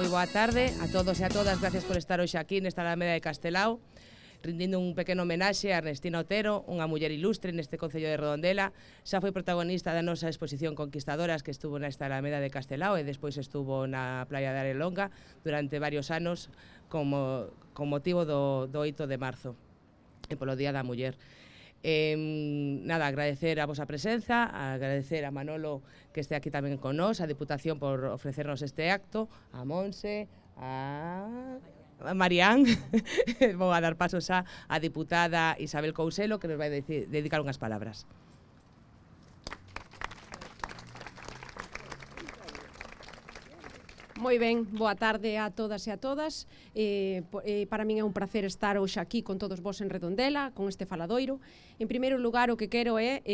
Moi boa tarde a todos e a todas, gracias por estar hoxe aquí nesta Alameda de Castelao, rindindo un pequeno homenaxe a Ernestina Otero, unha muller ilustre neste Concello de Redondela. Xa foi protagonista da nosa exposición Conquistadoras, que estuvo nesta Alameda de Castelao e despois estuvo na playa de Arelonga durante varios anos con motivo do 8 de marzo e polo Día da Muller. Nada, agradecer a vosa presenza, agradecer a Manolo que este aquí tamén con nós, a Diputación por ofrecernos este acto, a Monse, a Marián. Vou a dar pasos a diputada Isabel Couselo, que nos vai dedicar unhas palabras. Moi ben, boa tarde a todas e a todas. Para min é un placer estar hoxe aquí con todos vos en Redondela, con este faladoiro. En primeiro lugar, o que quero é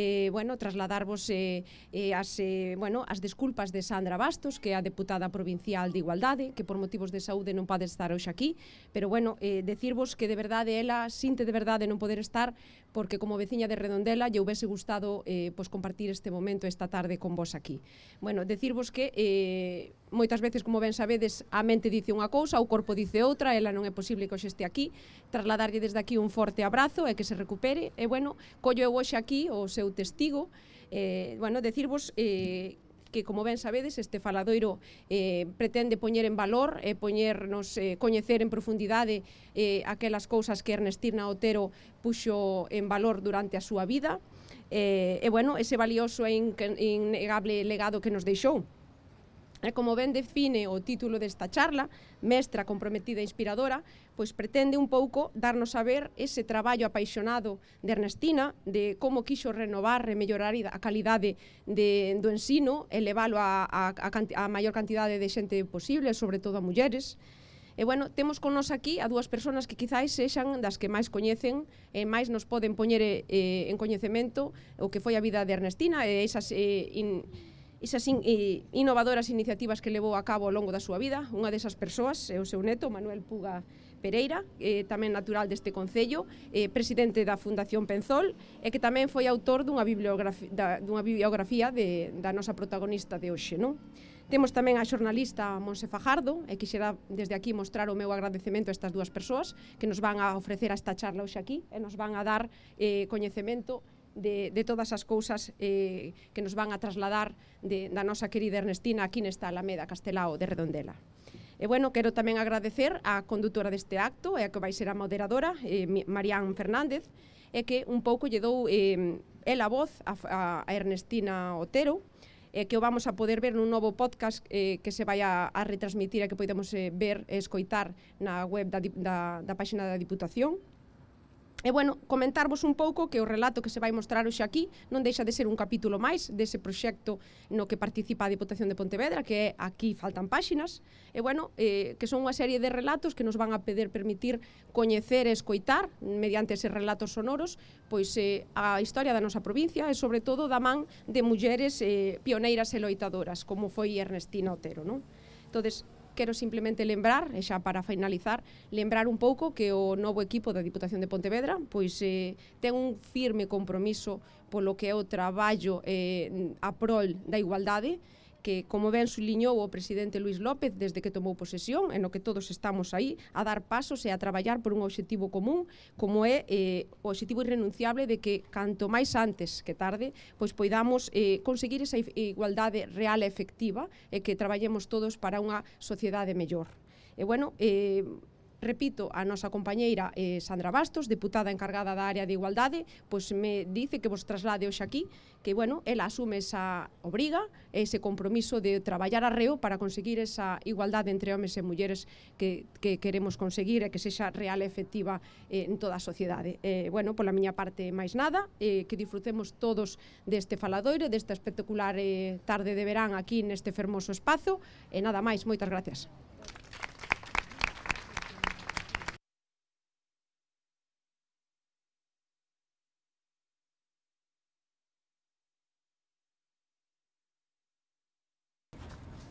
trasladarvos as desculpas de Sandra Bastos, que é a deputada provincial de Igualdade, que por motivos de saúde non pode estar hoxe aquí, pero decirvos que de verdade ela sinte de verdade non poder estar, porque como veciña de Redondela lle houbese gustado compartir este momento esta tarde con vos aquí. Decirvos que moitas veces, como ben sabedes, a mente dice unha cousa, o corpo dice outra, ela non é posible que hoxe este aquí. Trasladarlle desde aquí un forte abrazo e que se recupere. E, collo eu hoxe aquí o seu testigo. Decirvos que, como ben sabedes, este faladoiro pretende poñer en valor e poñernos coñecer en profundidade aquelas cousas que Ernestina Otero puxo en valor durante a súa vida. Ese valioso e innegable legado que nos deixou. Como ben define o título desta charla, Mestra comprometida e inspiradora, pois pretende un pouco darnos a ver ese traballo apaixonado de Ernestina, de como quixo renovar e mellorar a calidade do ensino, elevalo a maior cantidade de xente posible, sobre todo a mulleres. Temos con nos aquí a dúas persoas que quizáis sexan das que máis coñecen e máis nos poden poñer en coñecemento o que foi a vida de Ernestina e esas innovadoras iniciativas que levou a cabo ao longo da súa vida. Unha desas persoas é o seu neto, Manuel Puga Pereira, tamén natural deste concello, presidente da Fundación Penzol, e que tamén foi autor dunha bibliografía da nosa protagonista de hoxe, non? Temos tamén a xornalista Monse Fajardo, e quixera desde aquí mostrar o meu agradecemento a estas dúas persoas que nos van a ofrecer esta charla hoxe aquí e nos van a dar coñecemento de todas as cousas que nos van a trasladar da nosa querida Ernestina aquí nesta Alameda Castelao de Redondela. Quero tamén agradecer á condutora deste acto e a que vai ser a moderadora, Marián Fernández, e que un pouco lle dou a voz a Ernestina Otero, que o vamos a poder ver nun novo podcast que se vai a retransmitir e que podemos ver e escoitar na web da páxina da Diputación. Comentarvos un pouco que o relato que se vai mostrar hoxe aquí non deixa de ser un capítulo máis dese proxecto no que participa a Diputación de Pontevedra, que é Aquí faltan páxinas, que son unha serie de relatos que nos van a permitir coñecer e escoitar, mediante eses relatos sonoros, pois a historia da nosa provincia e, sobre todo, da man de mulleres pioneiras e loitadoras, como foi Ernestina Otero, non? Entonces, quero simplemente lembrar, e xa para finalizar, lembrar un pouco que o novo equipo da Diputación de Pontevedra pois ten un firme compromiso polo que é o traballo a prol da igualdade, que, como ben suliñou o presidente Luís López desde que tomou posesión, en o que todos estamos aí a dar pasos e a traballar por un obxectivo común, como é o obxectivo irrenunciable de que, canto máis antes que tarde, pois poidamos conseguir esa igualdade real e efectiva e que traballemos todos para unha sociedade mellor. Repito, a nosa compañeira Sandra Bastos, deputada encargada da área de igualdade, pois me dice que vos traslade hoxe aquí que, ela asume esa obriga, ese compromiso de traballar arreo para conseguir esa igualdade entre homes e mulleres que queremos conseguir e que sexa real e efectiva en toda a sociedade. Pola miña parte, máis nada, que disfrutemos todos deste faladoiro, desta espectacular tarde de verán aquí neste fermoso espazo, e nada máis, moitas gracias.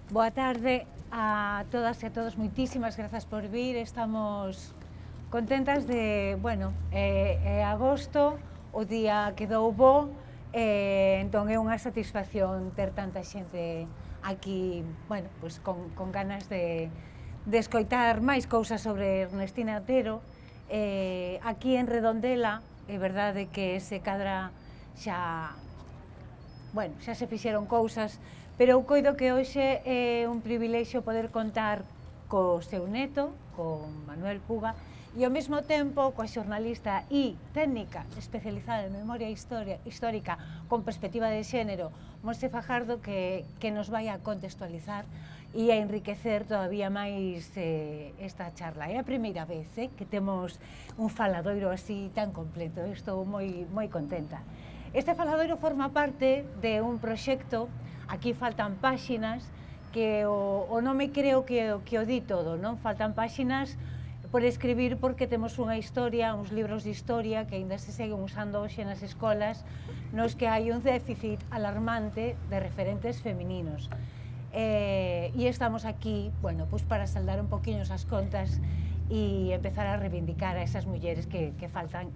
Boa tarde a todas e a todos, moitísimas grazas por vir, estamos contentas de, agosto, o día quedou bo, entón é unha satisfacción ter tanta xente aquí, con ganas de de escoitar máis cousas sobre Ernestina Otero. Aquí en Redondela, é verdade que se cadra xa se fixeron cousas, pero eu coido que hoxe é un privilexio poder contar co seu neto, con Manuel Puga, e ao mesmo tempo coa xornalista e técnica especializada en memoria histórica con perspectiva de xénero, Monse Fajardo, que nos vai a contextualizar e a enriquecer todavía máis esta charla. É a primeira vez que temos un faladoiro así tan completo, estou moi contenta. Este faladoiro forma parte de un proxecto, aquí faltan páxinas, que o nome creo que o di todo, non? Faltan páxinas por escribir porque temos unha historia, uns libros de historia que aínda se seguen usando hoxe nas escolas, nos que hai un déficit alarmante de referentes femininos. E estamos aquí, bueno, pues para saldar un poquinho as contas e empezar a reivindicar a esas mulleres que faltan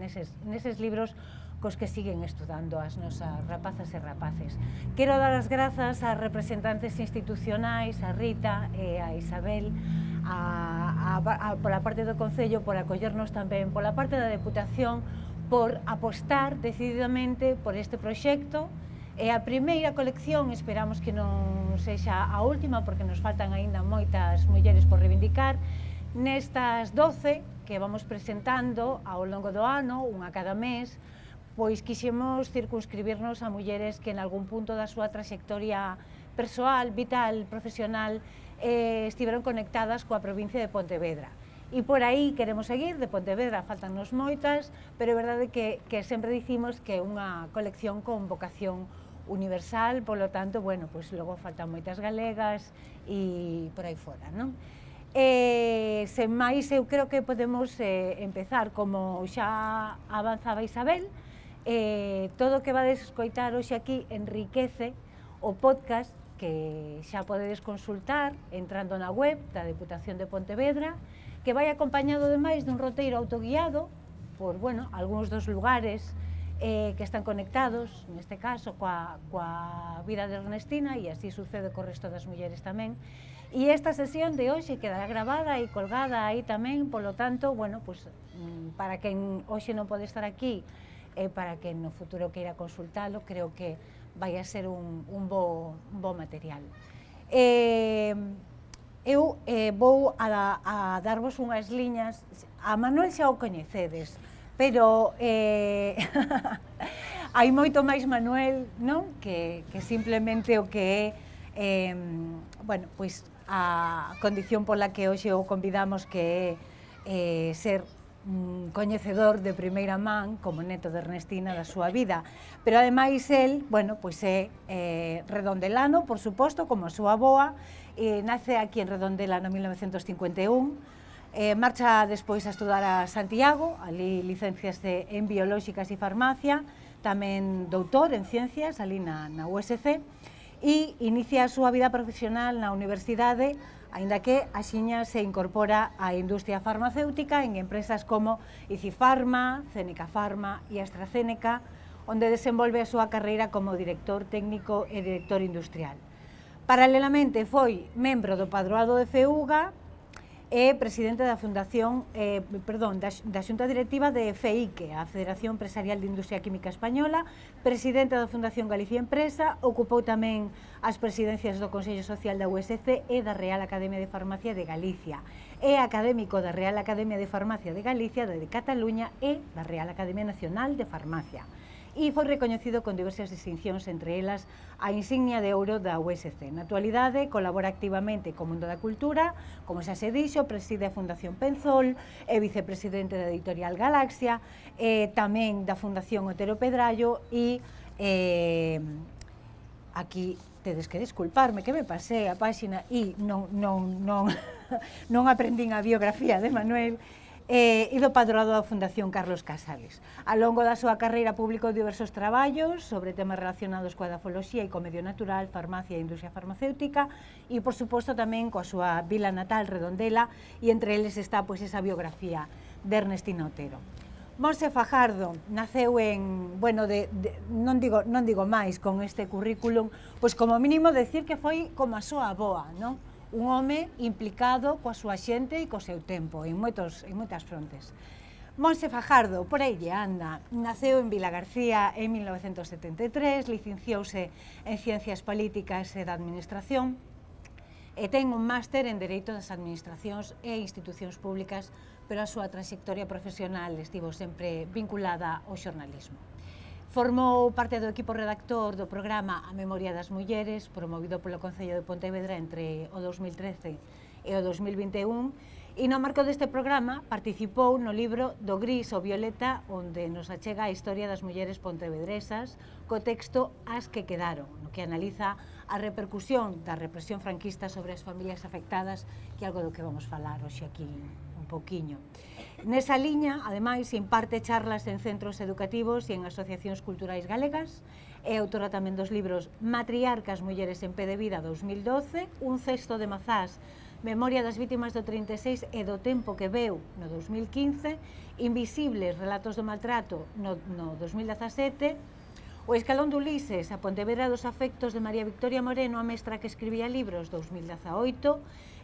neses libros cos que siguen estudando as nosas rapazas e rapaces. Quero dar as grazas ás representantes institucionais, a Rita e a Isabel, pola parte do Concello, por acollernos tamén, pola parte da Deputación, por apostar decididamente por este proxecto. É a primeira colección, esperamos que non sexa a última, porque nos faltan aínda moitas mulleres por reivindicar. Nestas 12 que vamos presentando ao longo do ano, unha cada mes, pois quixemos circunscribirnos a mulleres que en algún punto da súa trayectoria persoal, vital, profesional, estiveron conectadas coa provincia de Pontevedra. E por aí queremos seguir, de Pontevedra faltannos moitas, pero é verdade que sempre dicimos que é unha colección con vocación universal, polo tanto, bueno, pois logo faltan moitas galegas e por aí fora, non? Sen máis, eu creo que podemos empezar, como xa avanzaba Isabel. Todo o que vades escoitar hoxe aquí enriquece o podcast que xa podedes consultar entrando na web da Deputación de Pontevedra, que vai acompañado ademais dun roteiro autoguiado por, bueno, algúns dos lugares que están conectados, neste caso, coa vida de Ernestina, e así sucede co resto das mulleres tamén. E esta sesión de hoxe quedará grabada e colgada aí tamén, polo tanto, bueno, pues, para quen hoxe non pode estar aquí, para que no futuro queira consultalo, creo que vai a ser un bo material. Eu vou a darvos unhas liñas, a Manuel xa o coñecedes, pero hai moito máis Manuel, non? Que simplemente o que é, bueno, pois a condición pola que hoxe o convidamos, que é ser coñecedor de primeira man, como neto de Ernestina, da súa vida. Pero ademais el, bueno, pois é redondelano, por suposto, como a súa avoa, nace aquí en Redondela no 1951, marcha despois a estudar a Santiago, ali licencias en Biolóxicas e Farmacia, tamén doutor en Ciencias, ali na USC, e inicia a súa vida profesional na universidade, aínda que axiña se incorpora á industria farmacéutica en empresas como Icifarma, Ceneca Pharma e AstraZeneca, onde desenvolve a súa carreira como director técnico e director industrial. Paralelamente foi membro do Padroado de FEUGA e presidente da Fundación, da Xunta Directiva de FEIQUE, a Federación Empresarial de Industria Química Española, presidente da Fundación Galicia Empresa, ocupou tamén as presidencias do Consello Social da USC e da Real Academia de Farmacia de Galicia. É académico da Real Academia de Farmacia de Galicia, de Cataluña e da Real Academia Nacional de Farmacia. E foi recoñecido con diversas distincións, entre elas a insignia de ouro da USC. Na actualidade colabora activamente co mundo da cultura, como xa se dixo, preside a Fundación Penzol, é vicepresidente da Editorial Galaxia, tamén da Fundación Otero Pedrallo e aquí tedes que disculparme que me pasei a páxina e non aprendín a biografía de Manuel, e do Padroado da Fundación Carlos Casares. Ao longo da súa carreira publicou diversos traballos sobre temas relacionados coa edafoloxía e co medio natural, farmacia e industria farmacéutica, e, por suposto, tamén coa súa vila natal, Redondela, e entre eles está, pois, esa biografía de Ernestina Otero. Monse Fajardo naceu en, bueno, non digo máis con este currículum, pois como mínimo decir que foi como a súa avoa, non? un home implicado coa súa xente e co seu tempo, en moitas frontes. Monse Fajardo, por aí lle anda, naceu en Vilagarcía en 1973, licenciouse en Ciencias Políticas e da Administración e ten un máster en Dereito das Administracións e Institucións Públicas, pero a súa trayectoria profesional estivo sempre vinculada ao xornalismo. Formou parte do equipo redactor do programa A Memoria das Mulleres, promovido polo Concello de Pontevedra entre o 2013 e o 2021, e no marco deste programa participou no libro Do Gris ao Violeta, onde nos achega a historia das mulleres pontevedresas co texto As que quedaron, no que analiza a repercusión da represión franquista sobre as familias afectadas, que é algo do que vamos falar hoxe aquí un pouquiño. Nesa liña, ademais, imparte charlas en centros educativos e en asociacións culturais galegas, é autora tamén dos libros Matriarcas, mulleres en pé de vida 2012, Un cesto de mazás, Memoria das vítimas do 36 e do tempo que veu no 2015, Invisibles, relatos do maltrato no 2017, O escalón de Ulises, a Pontevedra dos afectos de María Victoria Moreno, a mestra que escribía libros 2018,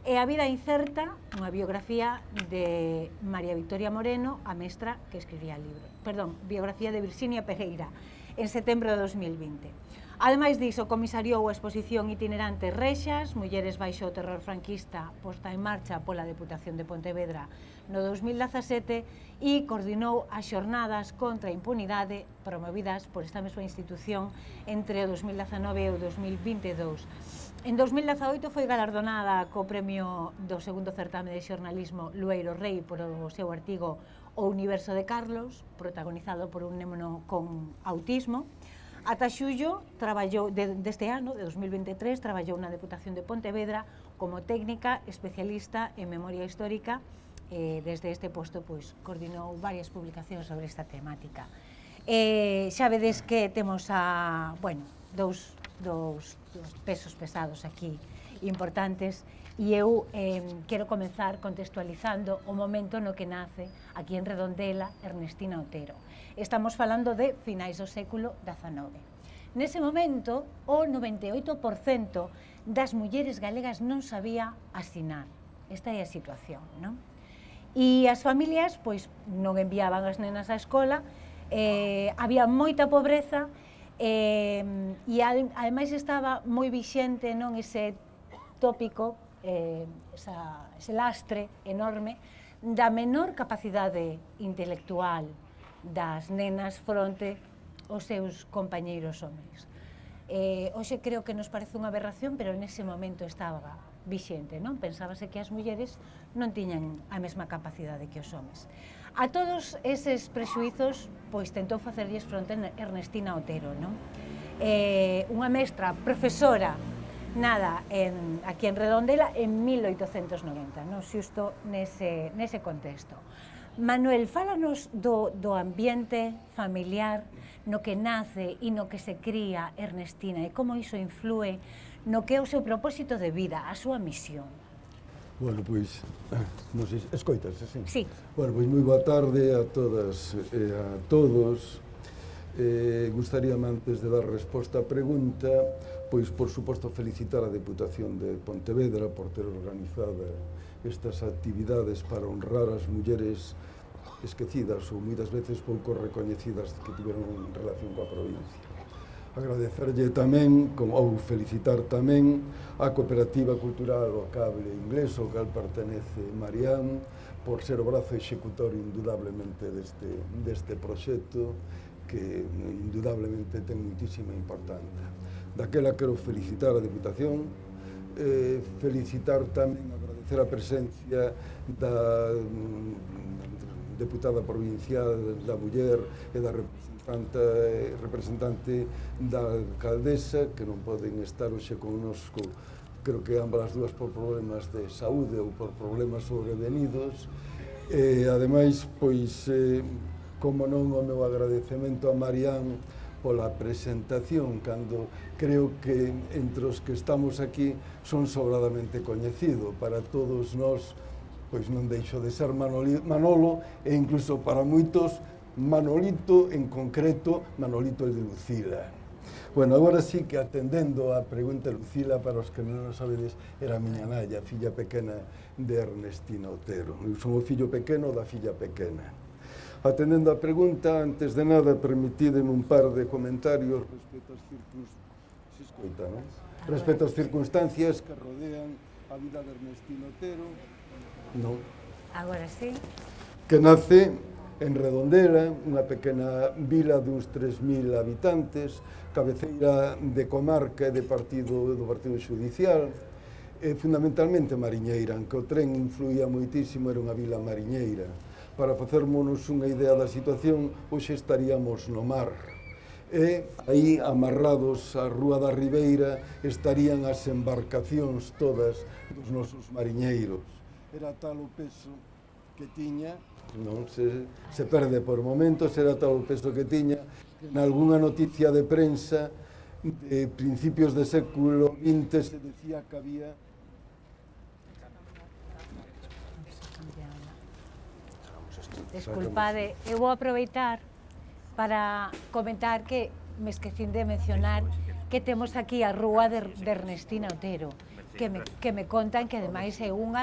e A vida incerta, unha biografía de María Victoria Moreno, a mestra que escribía libros. Perdón, biografía de Virxinia Pereira, en setembro de 2020. Ademais diso, comisariou a exposición itinerante Rexas, Mulleres baixo o terror franquista, posta en marcha pola Deputación de Pontevedra no 2017 e coordinou as xornadas contra a impunidade promovidas por esta mesma institución entre o 2019 e o 2022. En 2018 foi galardonada co premio do segundo certame de xornalismo Lueiro Rei por o seu artigo O universo de Carlos, protagonizado por un neno con autismo. Ata xullo deste ano, de 2023, traballou na Deputación de Pontevedra como técnica especialista en memoria histórica e desde este posto coordinou varias publicacións sobre esta temática. Xa vedes que temos dous pesos pesados aquí importantes e eu quero comenzar contextualizando o momento no que nace aquí en Redondela Ernestina Otero. Estamos falando de finais do século XIX. Nese momento, o 98% das mulleres galegas non sabía asinar. Esta é a situación, non? E as familias, non enviaban as nenas á escola, había moita pobreza, e ademais estaba moi vixente ese tópico, ese lastre enorme da menor capacidade intelectual das nenas fronte aos seus compañeiros homens. Hoxe creo que nos parece unha aberración, pero nese momento estaba vixente, non? Pensábase que as mulleres non tiñan a mesma capacidade que os homens. A todos eses prexuizos, tentou facerlles fronte Ernestina Otero, non? Unha mestra, profesora, nada, aquí en Redondela, en 1890, non? Xusto nese contexto. Manuel, fálanos do ambiente familiar no que nace e no que se cría Ernestina e como iso influe no que é o seu propósito de vida, a súa misión. Bueno, non sei, escoitas, así? Sí. Bueno, moi boa tarde a todas e a todos. Gustaríame, antes de dar resposta á pregunta, por suposto, felicitar a Deputación de Pontevedra por ter organizado estas actividades para honrar as mulleres esquecidas ou moitas veces pouco recoñecidas que tiveron relación coa provincia. Agradecerlle tamén, ou felicitar tamén, a Cooperativa Cultural O Cable Inglés, ao cal pertenece Marián, por ser o brazo executor indudablemente deste proxecto que indudablemente ten muitísima importancia. Daquela quero felicitar a Deputación, felicitar tamén, agradecer a presencia da deputada provincial da Muller e da representante da alcaldesa, que non poden estar hoxe connosco, creo que ambas as dúas por problemas de saúde ou por problemas sobrevenidos. Ademais, como non, o meu agradecemento a Marián pola presentación, cando creo que entre os que estamos aquí son sobradamente coñecido para todos nós, non deixo de ser Manolo, e incluso para moitos Manolito, en concreto Manolito el de Lucila. Bueno, agora sí que atendendo a pregunta, Lucila, para os que non o sabedes, era a miña nai, a filla pequena de Ernestina Otero. Eu son o fillo pequeno da filla pequena. Atendendo a pregunta, antes de nada, permitideme un par de comentarios respecto ás circunstancias que rodean a vida de Ernestina Otero. Non. Agora sí. Que nace en Redondela, unha pequena vila duns 3.000 habitantes, cabeceira de comarca e do partido xudicial, e fundamentalmente mariñeira, aunque o tren influía moitísimo, era unha vila mariñeira. Para facermonos unha idea da situación, hoxe estaríamos no mar. E aí, amarrados á Rúa da Ribeira, estarían as embarcacións todas dos nosos mariñeiros. Era tal o peso que tiña, non se perde por momentos, era tal o peso que tiña, que en algunha noticia de prensa de principios de século XX se decía que había... Desculpade, eu vou aproveitar para comentar que me esquecín de mencionar que temos aquí a Rúa de Ernestina Otero, que me contan que ademais é unha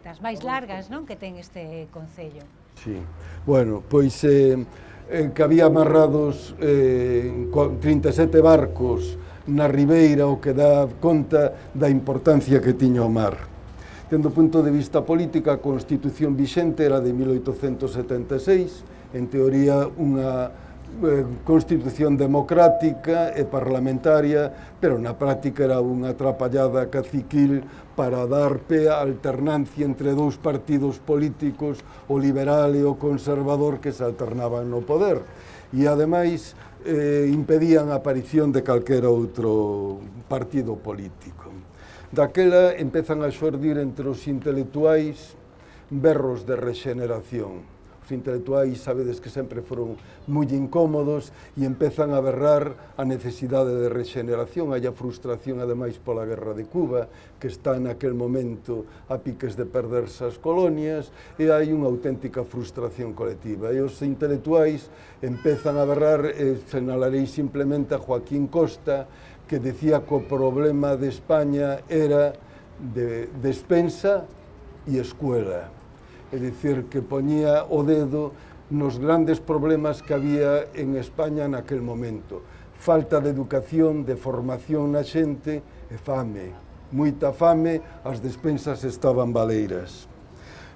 das máis largas, non, que ten este concello. Sí, bueno, pois que había amarrados 37 barcos na ribeira, o que dá conta da importancia que tiña o mar. Tendo o punto de vista político, a Constitución vixente era de 1876, en teoría unha Constitución democrática e parlamentaria, pero na práctica era unha atrapallada caciquil para dar pé á alternancia entre dous partidos políticos, o liberal e o conservador, que se alternaban no poder. E, ademais, impedían a aparición de calquera outro partido político. Daquela empezan a xordir entre os intelectuais berros de rexeneración. Os intelectuais, sabedes que sempre foron moi incómodos e empezan a berrar a necesidade de rexeneración. Hai a frustración, ademais, pola guerra de Cuba, que está naquel momento a piques de perderse as colonias, e hai unha auténtica frustración colectiva. E os intelectuais empezan a berrar, e señalarei simplemente a Joaquín Costa, que decía que o problema de España era de despensa e escuela. É dicir, que poñía o dedo nos grandes problemas que había en España naquel momento. Falta de educación, de formación na xente e fame. Moita fame, as despensas estaban baleiras.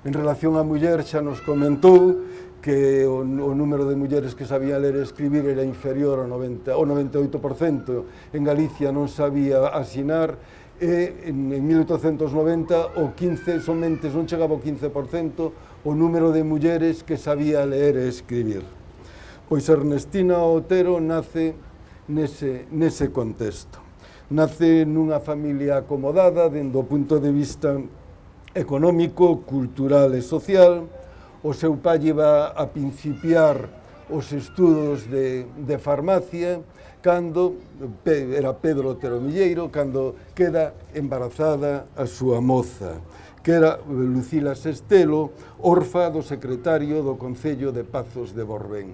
En relación á muller, xa nos comentou que o número de mulleres que sabían ler e escribir era inferior ao 98%, en Galicia non sabía asinar, e en 1890 o 15, somente non chegaba ao 15% o número de mulleres que sabía ler e escribir. Pois Ernestina Otero nace nese contexto. Nace nunha familia acomodada dende o punto de vista económico, cultural e social. O seu pai iba a principiar os estudos de farmacia, cando era Pedro Otero Milleiro, cando queda embarazada a súa moza, que era Lucila Sestelo, orfa do secretario do Concello de Pazos de Borbén.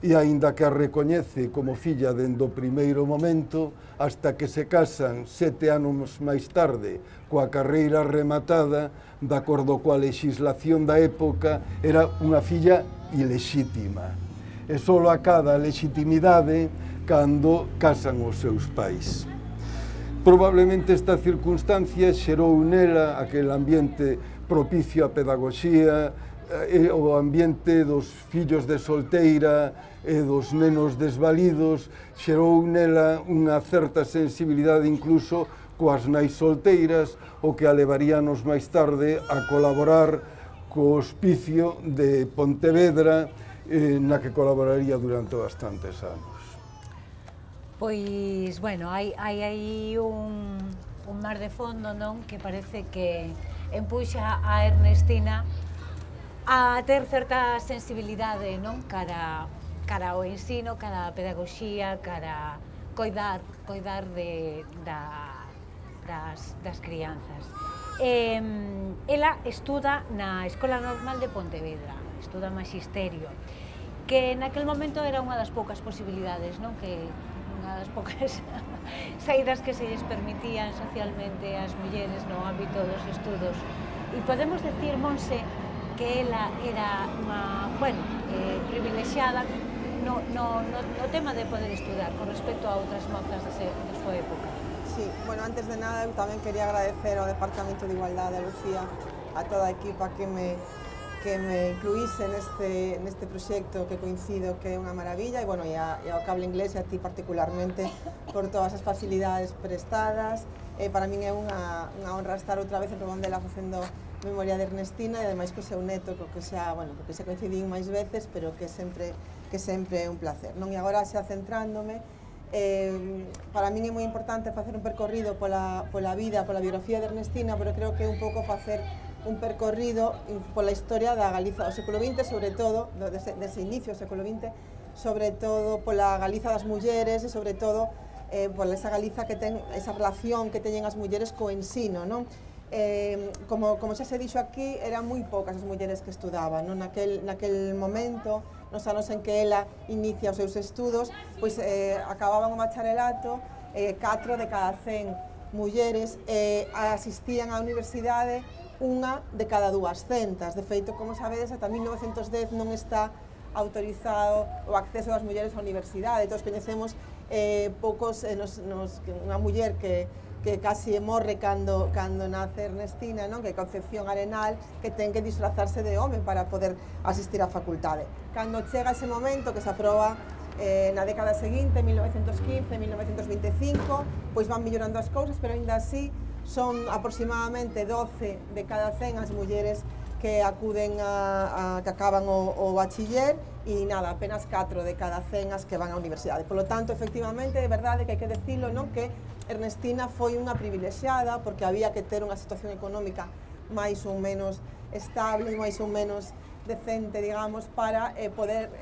E aínda que a recoñece como filla dende o primeiro momento, hasta que se casan 7 anos máis tarde, coa carreira rematada, de acordo coa legislación da época, era unha filla ilexítima. E só acada a legitimidade cando casan os seus pais. Probablemente esta circunstancia xerou nela aquel ambiente propicio á pedagogía, o ambiente dos fillos de solteira e dos nenos desvalidos, xerou nela unha certa sensibilidade incluso coas nais solteiras, o que a levaríanos máis tarde a colaborar co Hospicio de Pontevedra, na que colaboraría durante bastantes anos. Pois, bueno, hai aí un mar de fondo, non? Que parece que empuxa a Ernestina a ter certa sensibilidade, non? Cara ao ensino, cara a pedagogía, cara a coidar das crianzas. Ela estuda na Escola Normal de Pontevedra, estuda Magisterio, que naquel momento era unha das poucas posibilidades, non? Que unha as poucas saídas que se lles permitían socialmente ás mulleres no ámbito dos estudos. E podemos decir, Monse, que ela era unha, privilexiada no tema de poder estudar con respecto a outras mozas de súa época. Sí, bueno, antes de nada eu tamén quería agradecer ao Departamento de Igualdade, a Lucía, a toda a equipa que me incluíse neste proxecto que coincido que é unha maravilla, e ao Cable Inglés e a ti particularmente por todas as facilidades prestadas. Para min é unha honra estar outra vez en Redondela facendo memoria de Ernestina, e ademais co seu neto, que xa coincidín máis veces, pero que sempre é un placer, non? E agora xa centrándome, para min é moi importante facer un percorrido pola vida, pola biografía de Ernestina, pero creo que é un pouco facer un percorrido pola historia da Galiza do século XX, sobre todo, dese inicio do século XX, sobre todo pola Galiza das mulleres e sobre todo pola esa Galiza que ten esa relación que teñen as mulleres co ensino, non? Como xa se dixo aquí, eran moi poucas as mulleres que estudaban, non? Naquel momento, nos anos en que ela inicia os seus estudos, pois acababan o bacharelato, 4 de cada 100 mulleres asistían á universidade, unha de cada 200. De feito, como sabedes, ata 1910 non está autorizado o acceso das mulleres á universidade. Todos coñecemos poucos, unha muller que casi morre cando nace Ernestina, non? Que é Concepción Arenal, que ten que disfrazarse de home para poder asistir á facultade. Cando chega ese momento que se aproba na década seguinte, 1915, 1925, pois van millorando as cousas, pero aínda así son aproximadamente 12 de cada 100 as mulleres que acuden que acaban o bachiller, e nada, apenas 4 de cada 100 as que van á universidade. Por lo tanto, efectivamente, é verdade que hai que decirlo, non? Que Ernestina foi unha privilexiada porque había que ter unha situación económica máis ou menos estable, máis ou menos decente, digamos, para poder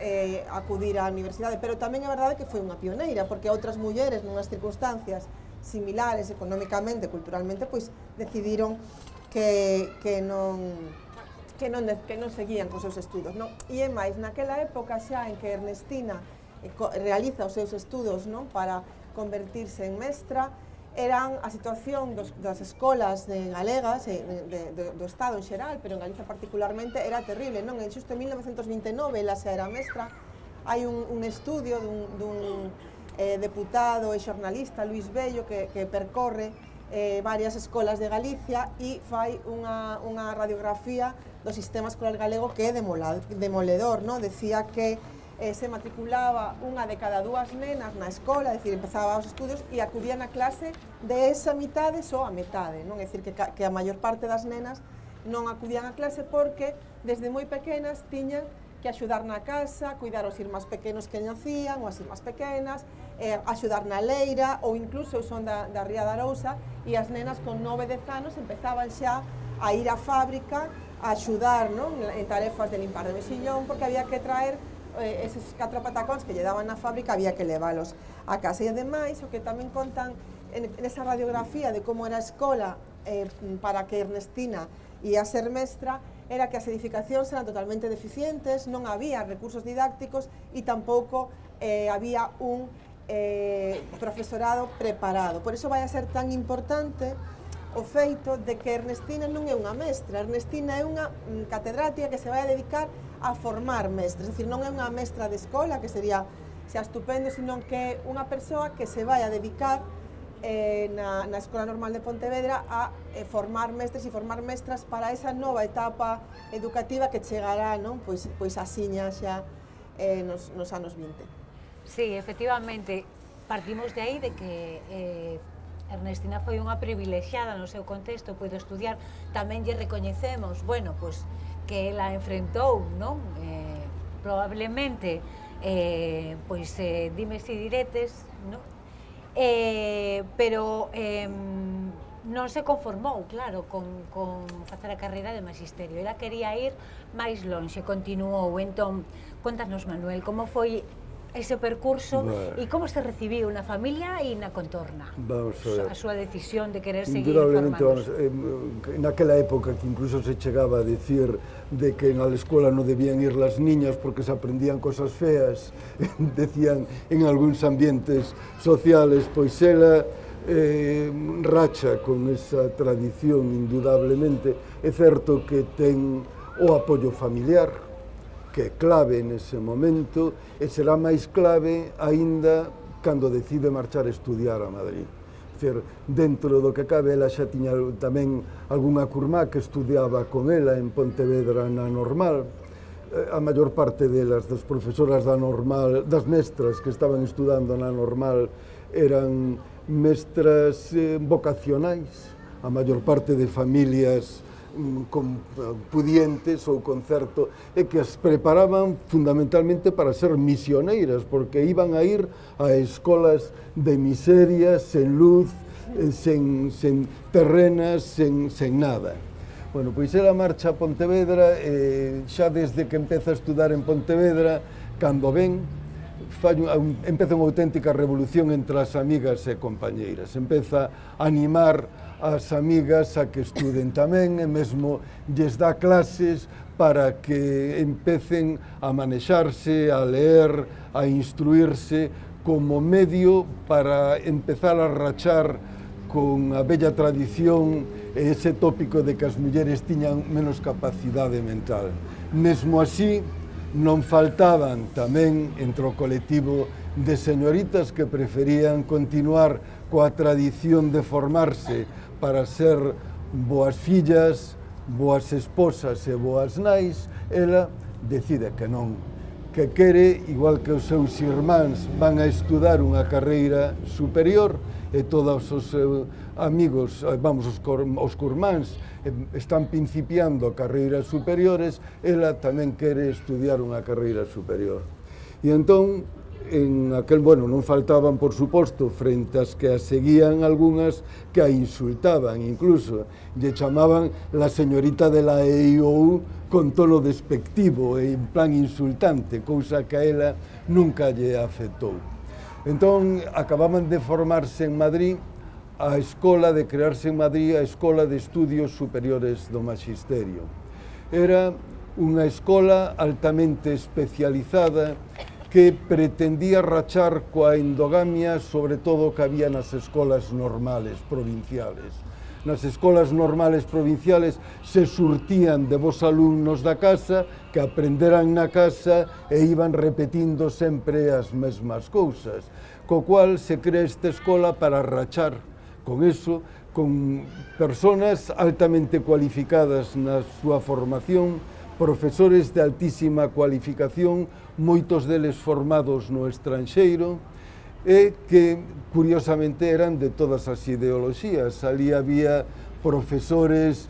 acudir á universidade. Pero tamén é verdade que foi unha pioneira, porque outras mulleres nunhas circunstancias similares económicamente, culturalmente, pois decidiron que non seguían cos seus estudos, non? E é máis, naquela época xa en que Ernestina realiza os seus estudos, non? Para convertirse en mestra, eran a situación das escolas galegas, do Estado en xeral, pero en Galiza particularmente, era terrible, non? En xusto en 1929, ela xa era mestra, hai un estudio dun deputado e xornalista, Luís Bello, que percorre varias escolas de Galicia e fai unha radiografía do sistema escolar galego que é demoledor, non? Decía que se matriculaba unha de cada 2 nenas na escola, é dicir, empezaba os estudios e acudían a clase de esa mitade só a metade, non? É dicir, que a maior parte das nenas non acudían a clase porque desde moi pequenas tiñan que axudar na casa, cuidar os irmáns pequenos que nacían, ou as irmás pequenas, axudar na leira, ou incluso son da Ría da Arousa, e as nenas con 9-10 anos empezaban xa a ir á fábrica a axudar, non? En tarefas de limpar de mexillón, porque había que traer eses 4 patacóns que lle daban na fábrica, había que leválos a casa. E ademais, o que tamén contan nesa radiografía de como era a escola para que Ernestina ia ser mestra, era que as edificacións eran totalmente deficientes, non había recursos didácticos e tampouco había un profesorado preparado. Por iso vai a ser tan importante o feito de que Ernestina non é unha mestra, Ernestina é unha catedrática que se vai a dedicar a formar mestres, é dicir, non é unha mestra de escola, que sería xa estupendo, sino que é unha persoa que se vai a dedicar na Escola Normal de Pontevedra a formar mestres e formar mestras para esa nova etapa educativa que chegará, non? Pois asiña xa nos anos 20. Sí, efectivamente, partimos de aí de que Ernestina foi unha privilexiada no seu contexto, puido estudiar, tamén lle recoñecemos, bueno, pois que ela enfrentou, non? Probablemente, pois, dimes e diretes, non? Pero non se conformou, claro, con facer a carreira de magisterio. Ela quería ir máis lonxe, continuou. Entón, contanos, Manuel, como foi ese percurso e como se recibiu na familia e na contorna? Vamos a ver. A súa decisión de querer seguir Indudablemente, formándose. naquela época que incluso se chegaba a decir de que na escola non debían ir las niñas porque se aprendían cosas feas, decían en algúns ambientes sociales, pois ela racha con esa tradición indudablemente. É certo que ten o apoio familiar, que é clave nese momento, e será máis clave aínda cando decide marchar a estudiar a Madrid. Dicir, dentro do que cabe, ela xa tiña tamén algunha curmá que estudiaba con ela en Pontevedra na Normal. A maior parte delas, das profesoras da Normal, das mestras que estaban estudando na Normal, eran mestras vocacionais, a maior parte de familias pudientes ou con certo, e que as preparaban fundamentalmente para ser misioneiras, porque iban a ir a escolas de miseria, sen luz, sen terrenas, sen nada. Bueno, pois ela marcha a Pontevedra, xa desde que empeza a estudar en Pontevedra, cando ven, empeza unha auténtica revolución entre as amigas e compañeiras. Empeza a animar as amigas a que estuden tamén, e mesmo lles dá clases para que empecen a manexarse, a leer, a instruirse como medio para empezar a rachar con a bella tradición e ese tópico de que as mulleres tiñan menos capacidade mental. Mesmo así, non faltaban tamén entre o colectivo de señoritas que preferían continuar coa tradición de formarse para ser boas fillas, boas esposas e boas nais. Ela decide que non, que quere, igual que os seus irmáns van a estudar unha carreira superior, e todos os seus amigos, vamos, os curmáns están principiando carreiras superiores, ela tamén quere estudiar unha carreira superior. E entón, en aquel, bueno, non faltaban, por suposto, frente ás que a seguían algunhas que a insultaban, incluso lle chamaban la señorita de la EIOU con tono despectivo e en plan insultante, cousa que a ela nunca lle afectou. Entón, acababan de formarse en Madrid a escola, de crearse en Madrid a Escola de Estudios Superiores do Magisterio. Era unha escola altamente especializada que pretendía rachar coa endogamia, sobre todo que había nas escolas normales provinciales. Nas escolas normales provinciales se surtían de vos alumnos da casa que aprenderan na casa e iban repetindo sempre as mesmas cousas, co cual se crea esta escola para rachar con eso, con personas altamente cualificadas na súa formación, profesores de altísima cualificación, moitos deles formados no estranxeiro, e que, curiosamente, eran de todas as ideoloxías. Ali había profesores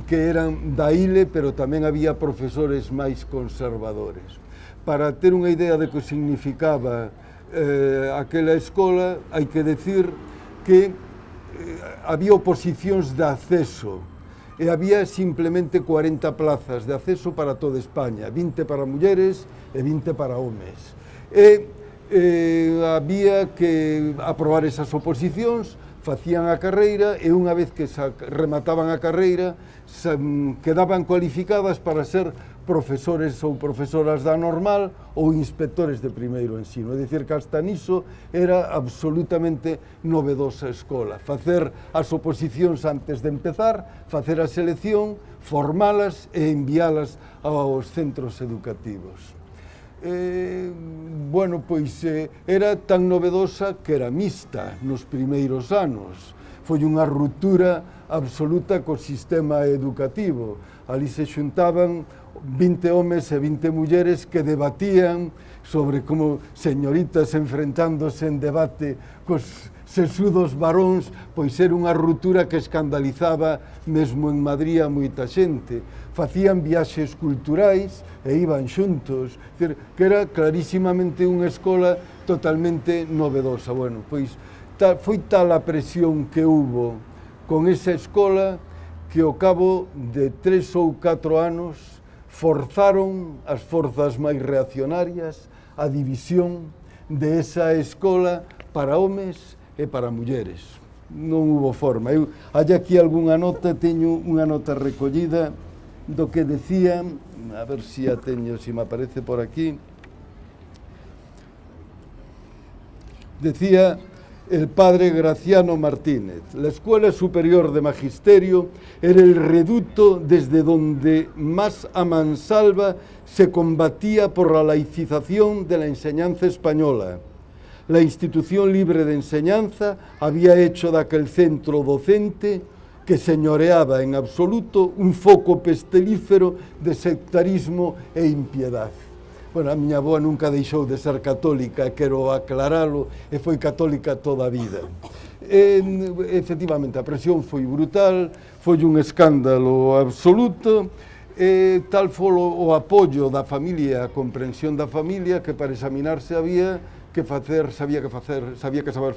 que eran da ILE, pero tamén había profesores máis conservadores. Para ter unha idea de que significaba aquela escola, hai que decir que había oposicións de acceso, e había simplemente 40 plazas de acceso para toda España, 20 para mulleres e 20 para homes. E había que aprobar esas oposicións, facían a carreira, e unha vez que remataban a carreira, quedaban cualificadas para ser profesores ou profesoras da normal ou inspectores de primeiro ensino. É dicir, que hasta niso era absolutamente novedosa a escola. Facer as oposicións antes de empezar, facer a selección, formalas e envialas aos centros educativos. Bueno, pois era tan novedosa que era mixta nos primeiros anos. Foi unha ruptura absoluta co sistema educativo. Ali se xuntaban 20 homes e 20 mulleres que debatían sobre como señoritas enfrentándose en debate cos sesudos varóns, pois era unha ruptura que escandalizaba mesmo en Madrid a moita xente. Facían viaxes culturais e iban xuntos, que era clarísimamente unha escola totalmente novedosa. Bueno, pois foi tal a presión que hubo con esa escola que ao cabo de 3 ou 4 anos forzaron as forzas máis reaccionarias a división de esa escola para homes e para mulleres. Non hubo forma. Hai aquí algunha nota, teño unha nota recollida do que decía, a ver se a teño, se me aparece por aquí. Decía el padre Graciano Martínez: la Escuela Superior de Magisterio era el reducto desde donde más a mansalva se combatía por la laicización de la enseñanza española. La institución libre de enseñanza había hecho de aquel centro docente, que señoreaba en absoluto, un foco pestelífero de sectarismo e impiedad. Bueno, a miña avoa nunca deixou de ser católica, quero aclaralo, e foi católica toda a vida. Efectivamente, a presión foi brutal, foi un escándalo absoluto, tal foi o apoio da familia, a comprensión da familia, que para examinarse había que saber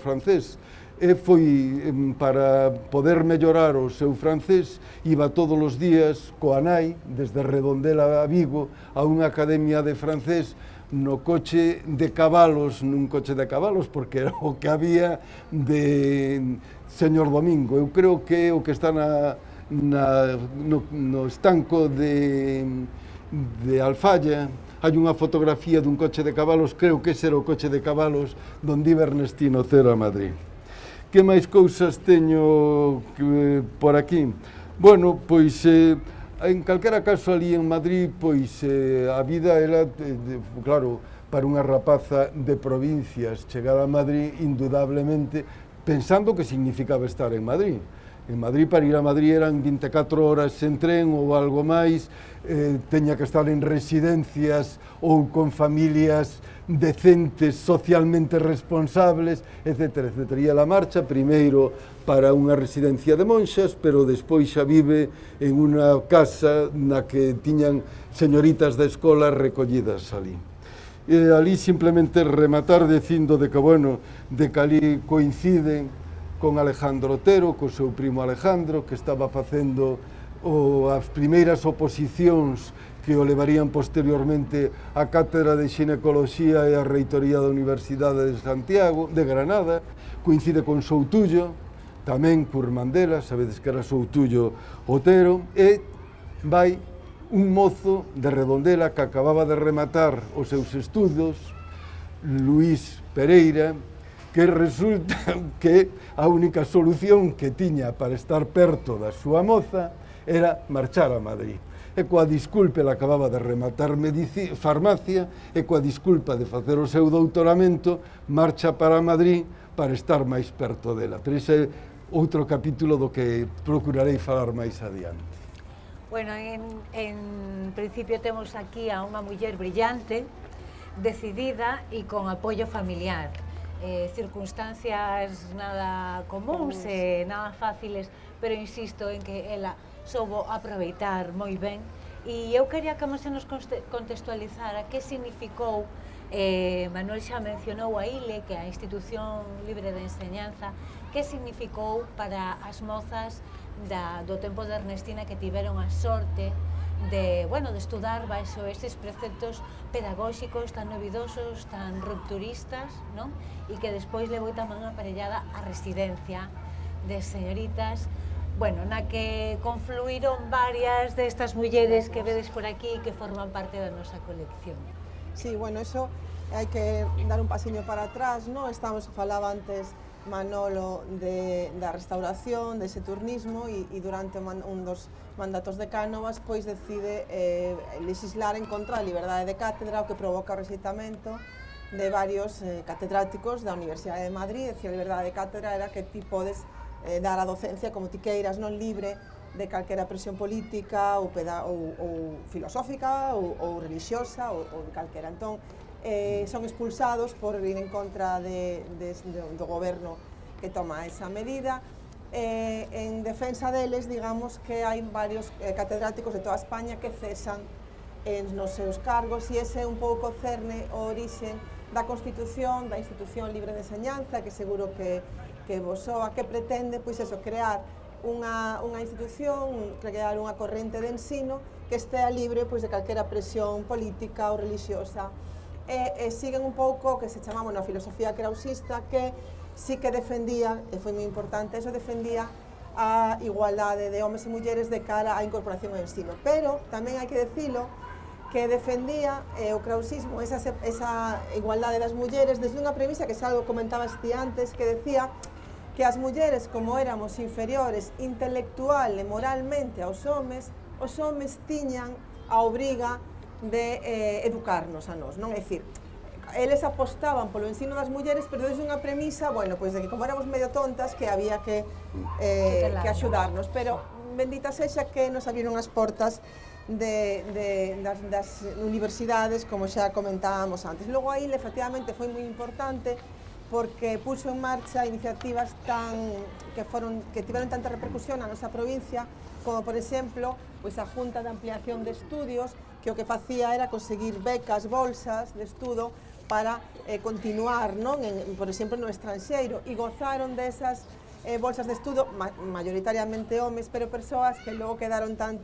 francés. E foi para poder mellorar o seu francés, iba todos os días coa nai, desde Redondela a Vigo, a unha academia de francés no coche de cabalos, nun coche de cabalos, porque era o que había de Señor Domingo. Eu creo que o que está no estanco de Alfalla, hai unha fotografía dun coche de cabalos, creo que ese era o coche de cabalos donde iba Ernestino Otero a Madrid. Que máis cousas teño por aquí? Bueno, pois, en calquera caso, ali en Madrid, pois, a vida era, claro, para unha rapaza de provincias, chegar a Madrid, indudablemente, pensando que significaba estar en Madrid. En Madrid, para ir a Madrid, eran 24 horas en tren ou algo máis, teña que estar en residencias ou con familias decentes, socialmente responsables, etc. Ia a marcha, primeiro para unha residencia de monxas, pero despois xa vive en unha casa na que tiñan señoritas da escola recollidas ali. E ali simplemente rematar dicindo de que, bueno, de que ali coinciden con Alejandro Otero, co seu primo Alejandro, que estaba facendo as primeiras oposicións que o levarían posteriormente á Cátedra de Xinecoloxía e á Reitoría da Universidade de Santiago, de Granada, coincide con Soutullo, tamén por Mandela, sabedes que era Soutullo Otero, e vai un mozo de Redondela que acababa de rematar os seus estudos, Luís Pereira, que resulta que a única solución que tiña para estar perto da súa moza era marchar a Madrid. E coa disculpa, ela acababa de rematar farmacia, e coa disculpa de facer o seu doutoramento, marcha para Madrid para estar máis perto dela. Pero ese é outro capítulo do que procurarei falar máis adiante. Bueno, en principio temos aquí a unha muller brillante, decidida e con apoio familiar. Circunstancias nada comuns e nada fáciles, pero insisto en que ela soubo aproveitar moi ben, e eu quería que se nos contextualizara que significou, Manuel xa mencionou a ILE, que é a Institución Libre de Enseñanza, que significou para as mozas do tempo de Ernestina que tiveron a sorte de estudar baixo estes preceptos pedagóxicos tan novidosos, tan rupturistas, e que despois levou tamén aparellada a residencia de señoritas, na que confluíron varias destas mulleres que vedes por aquí que forman parte da nosa colección. Sí, bueno, eso hai que dar un pasiño para atrás, falaba antes Manolo da restauración, dese turnismo, e durante un dos mandatos de Cánovas pois decide legislar en contra da liberdade de cátedra, o que provoca o rexeitamento de varios catedráticos da Universidade de Madrid. A liberdade de cátedra era que ti podes dar a docencia como ti queiras, non libre de calquera presión política ou filosófica ou religiosa ou de calquera. Entón, son expulsados por ir en contra do goberno que toma esa medida. En defensa deles, digamos que hai varios catedráticos de toda España que cesan nos seus cargos, e ese é un pouco cerne o orixe da Constitución, da Institución Libre de Enseñanza, que seguro que vos soa, que pretende, pois eso, crear unha institución, crear unha corrente de ensino que estea libre pois de calquera presión política ou religiosa e siguen un pouco que se chamamos na filosofía krausista, que sí que defendía, e foi moi importante, eso defendía a igualdade de homes e mulleres de cara á incorporación ao ensino. Pero tamén hai que decilo que defendía o krausismo esa igualdade das mulleres desde unha premisa que xa algo comentabas ti antes, que decía que as mulleres, como éramos inferiores intelectual e moralmente aos homes tiñan a obriga de educarnos a nós, non? É dicir, eles apostaban polo ensino das mulleres, pero desde unha premisa, bueno, pois de que como éramos medio tontas, que había que axudarnos, pero bendita sexa que nos abriron as portas das universidades, como xa comentábamos antes. Logo aí, efectivamente, foi moi importante porque puxo en marcha iniciativas que tiveron tanta repercusión na nosa provincia, como, por exemplo, pois a Junta de Ampliación de Estudios, que o que facía era conseguir becas, bolsas de estudo para continuar, non? Por exemplo, no estranxeiro, e gozaron desas bolsas de estudo, maioritariamente homes, pero persoas que logo quedaron tan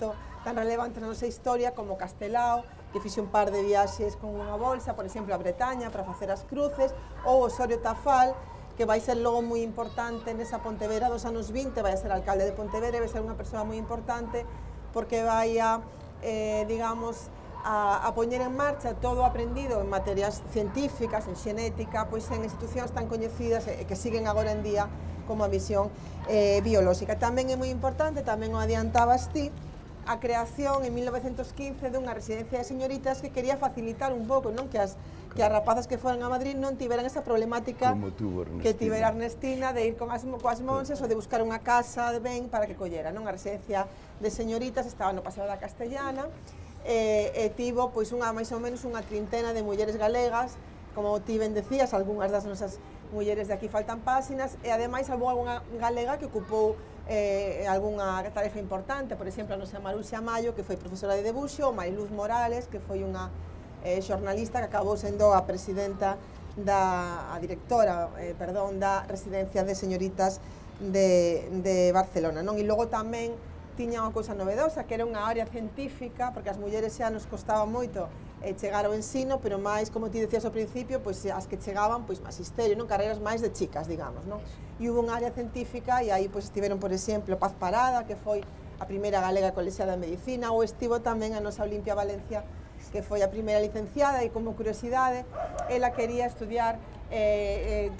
relevantes na nosa historia como Castelao, que fixe un par de viaxes con unha bolsa, por exemplo, a Bretaña para facer as cruces, ou Osorio Tafal, que vai ser logo moi importante nesa Pontevedra dos anos 20, vai a ser alcalde de Pontevedra e vai ser unha persoa moi importante porque vai a, digamos, a poñer en marcha todo o aprendido en materias científicas, en xenética, pois en institucións tan coñecidas e que siguen agora en día como a visión biolóxica. Tamén é moi importante, tamén o adiantabas ti, a creación en 1915 dunha residencia de señoritas que quería facilitar un pouco, non? Que as rapazas que foran a Madrid non tiveran esa problemática que tivera Ernestina de ir coas monxas ou de buscar unha casa de ben para que collera, non? A residencia de señoritas estaba no Paseo da Castellana e tivo pois máis ou menos unha trintena de mulleres galegas, como ti ben decías, algunhas das nosas mulleres de aquí faltan páxinas, e ademais houve algunha galega que ocupou algunha tarefa importante, por exemplo, a nosa Maruxa Mayo, que foi profesora de debuxo, ou Mariluz Morales, que foi unha xornalista que acabou sendo a presidenta a directora da residencia de señoritas de Barcelona, non? E logo tamén tiña unha cousa novedosa, que era unha área científica, porque as mulleres xa nos costaba moito chegar ao ensino, pero máis, como ti decías ao principio, pois as que chegaban, pois magisterio, non? Carreiras máis de chicas, digamos, non? E hubo unha área científica e aí pois estiveron, por exemplo, Paz Parada, que foi a primeira galega colexiada en medicina, ou estivo tamén a nosa Olimpia Valencia, que foi a primeira licenciada, e como curiosidade, ela quería estudiar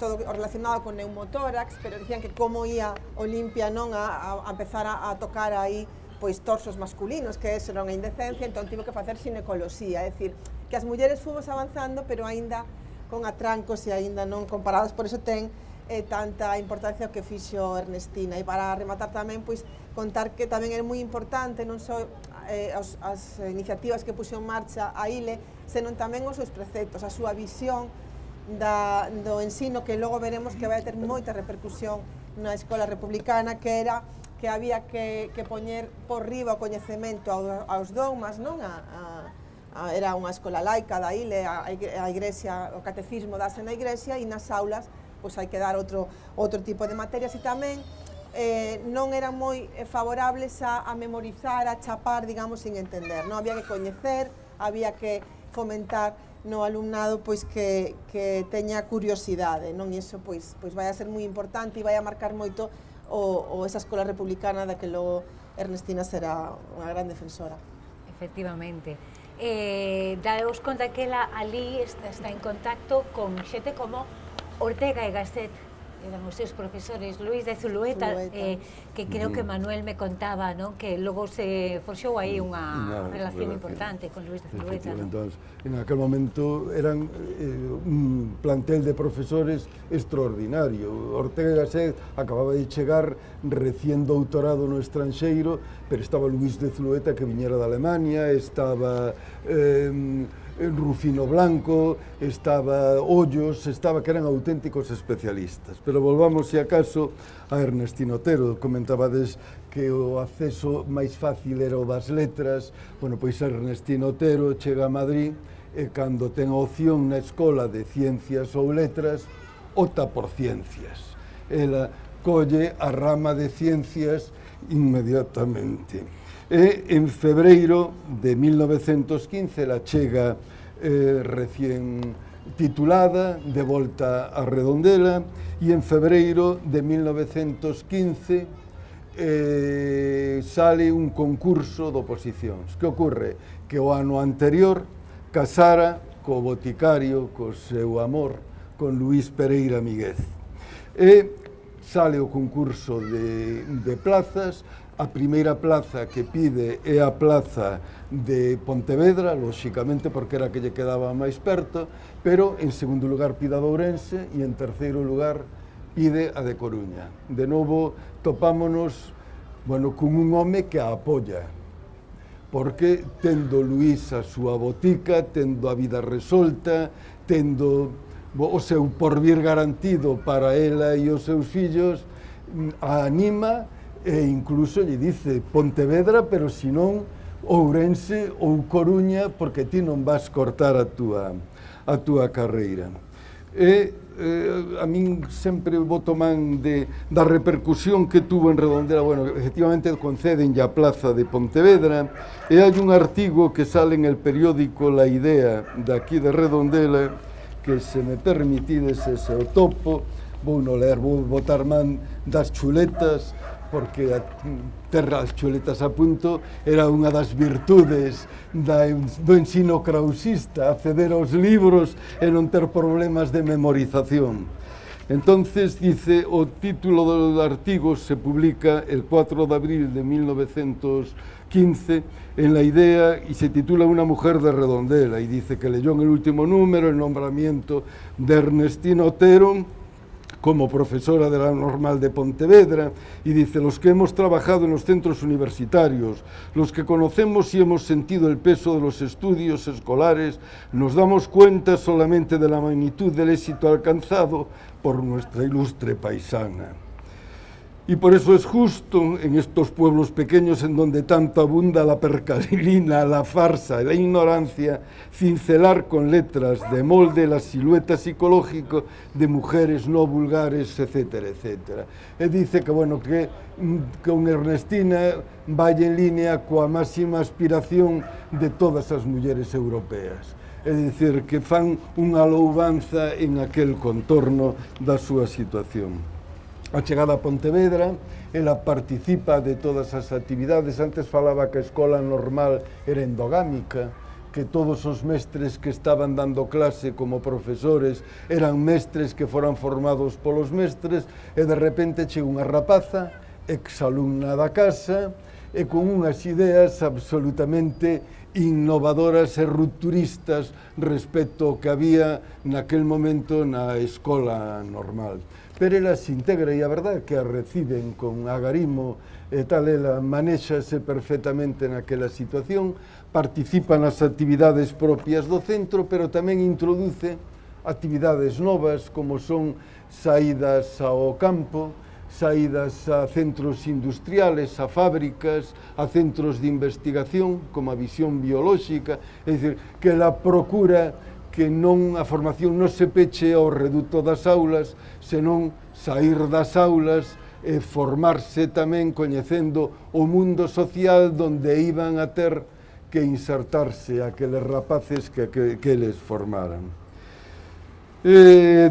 todo relacionado con neumotórax, pero dicían que como ia Olimpia non a empezar a tocar aí pois torsos masculinos, que eso era unha indecencia, entón tivo que facer xinecoloxía, é dicir, que as mulleres fomos avanzando, pero aínda con atrancos e aínda non comparadas, por eso ten tanta importancia o que fixo Ernestina. E para rematar tamén, pois, contar que tamén é moi importante non só as iniciativas que puxo en marcha a ILE, senón tamén os seus preceptos, a súa visión do ensino, que logo veremos que vai ter moita repercusión na escola republicana, que era que había que poñer por riba o coñecemento aos dogmas, non? Era unha escola laica da ILE, a igrexa, o catecismo dase na igrexa, e nas aulas pois hai que dar outro tipo de materias, e tamén non eran moi favorables a memorizar, a chapar, digamos, sin entender, non? Había que coñecer, había que fomentar no alumnado pois que teña curiosidade, non? E iso pois vai a ser moi importante e vai a marcar moito esa escola republicana da que logo Ernestina será unha gran defensora. Efectivamente. Daos conta que ela ali está en contacto con xente como Ortega e Gasset, eran os seus profesores, Luis de Zulueta, que creo que Manuel me contaba, non? Que logo se forxou aí unha relación importante con Luis de Zulueta. Entón, en aquel momento eran un plantel de profesores extraordinario. Ortega e Gasset acababa de chegar recién doutorado no estranxeiro, pero estaba Luis de Zulueta, que viñera de Alemania, estaba Rufino Blanco, estaba Ollos, que eran auténticos especialistas. Pero volvamos, se acaso, a Ernestina Otero. Comentabades que o acceso máis fácil era o das letras. Bueno, pois Ernestina Otero chega a Madrid e cando ten a opción na escola de ciencias ou letras, opta por ciencias. Ela colle a rama de ciencias inmediatamente. E en febreiro de 1915 ela chega recién titulada, de volta a Redondela, e en febreiro de 1915 sale un concurso de oposicións. Que ocorre? Que o ano anterior casara co boticario, co seu amor, con Luís Pereira Míguez. E sale o concurso de plazas. A primeira plaza que pide é a plaza de Pontevedra, lóxicamente porque era a que lle quedaba máis perto, pero en segundo lugar pide a de Ourense e en terceiro lugar pide a de Coruña. De novo topámonos, bueno, con un home que a apoia, porque tendo Luís a súa botica, tendo a vida resolta, tendo o seu porvir garantido para ela e os seus fillos, a anima e incluso lle dice Pontevedra, pero senón Ourense ou Coruña, porque ti non vas cortar a túa carreira. E a min sempre boto man da repercusión que tuvo en Redondela. Bueno, efectivamente conceden a plaza de Pontevedra, e hai un artigo que sale en el periódico La Idea de aquí de Redondela, que se me permitides ese o topo, vou non ler, vou botar man das chuletas, porque ter as chuletas a punto era unha das virtudes do ensino krausista, acceder aos libros e non ter problemas de memorización. Entonces, dice, o título do artigo se publica el 4 de abril de 1915 en La Idea y se titula Una mujer de Redondela, y dice que leyó en el último número el nombramiento de Ernestina Otero como profesora de la Normal de Pontevedra, y dice, los que hemos trabajado en los centros universitarios, los que conocemos y hemos sentido el peso de los estudios escolares, nos damos cuenta solamente de la magnitud del éxito alcanzado por nuestra ilustre paisana. Y por eso es justo en estos pueblos pequeños en donde tanto abunda la percalina, la farsa y la ignorancia, cincelar con letras de molde la silueta psicológica de mujeres no vulgares, etcétera, etcétera. E dice que, bueno, que con Ernestina vai en línea coa máxima aspiración de todas as mulleres europeas. É dicir, que fan unha louvanza en aquel contorno da súa situación. A chegada a Pontevedra, ela participa de todas as actividades. Antes falaba que a escola normal era endogámica, que todos os mestres que estaban dando clase como profesores eran mestres que foran formados polos mestres, e de repente chega unha rapaza, exalumna da casa, e con unhas ideas absolutamente innovadoras e rupturistas respecto ao que había naquel momento na escola normal. Pero ela se integra, e a verdade é que a reciben con agarimo e tal, ela manéxase perfectamente naquela situación, participa nas actividades propias do centro, pero tamén introduce actividades novas, como son saídas ao campo, saídas a centros industriales, a fábricas, a centros de investigación, como a visión biolóxica, é dicir, que ela procura que a formación non se peche ao reduto das aulas, senón sair das aulas e formarse tamén coñecendo o mundo social donde iban a ter que insertarse aqueles rapaces que eles formaran.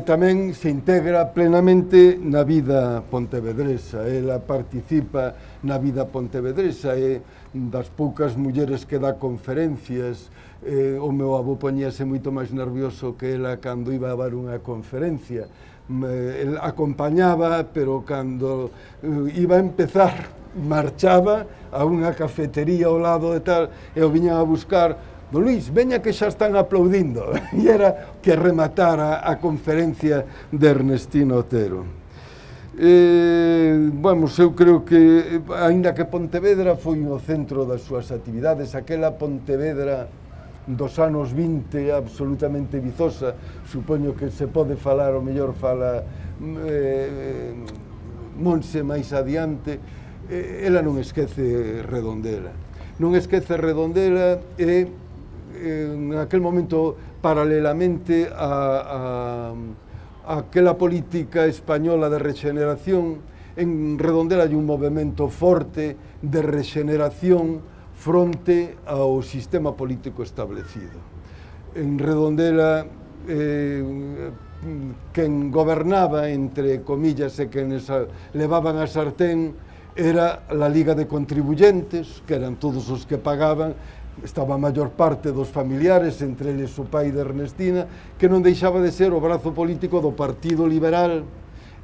Tamén se integra plenamente na vida pontevedresa, ela participa na vida pontevedresa, é das poucas mulleres que dá conferencias. O meu avó poñíase moito máis nervioso que ela cando iba a dar unha conferencia. El acompañaba, pero cando iba a empezar, marchaba a unha cafetería ao lado de tal, e o viñan a buscar. Don Luís, veña que xa están aplaudindo. E era que rematara a conferencia de Ernestina Otero. Vamos, eu creo que, aínda que Pontevedra foi o centro das súas actividades, aquela Pontevedra dos anos 20 absolutamente vizosa, supoño que se pode falar, o mellor fala Monse máis adiante, ela non esquece Redondela. Non esquece Redondela e en aquel momento, paralelamente a aquela política española de regeneración, en Redondela hai un movimento forte de regeneración fronte ao sistema político establecido. En Redondela, quen gobernaba, entre comillas, e quenes levaban a sartén era a Liga de Contribuyentes, que eran todos os que pagaban. Estaba a maior parte dos familiares, entre eles o pai de Ernestina, que non deixaba de ser o brazo político do Partido Liberal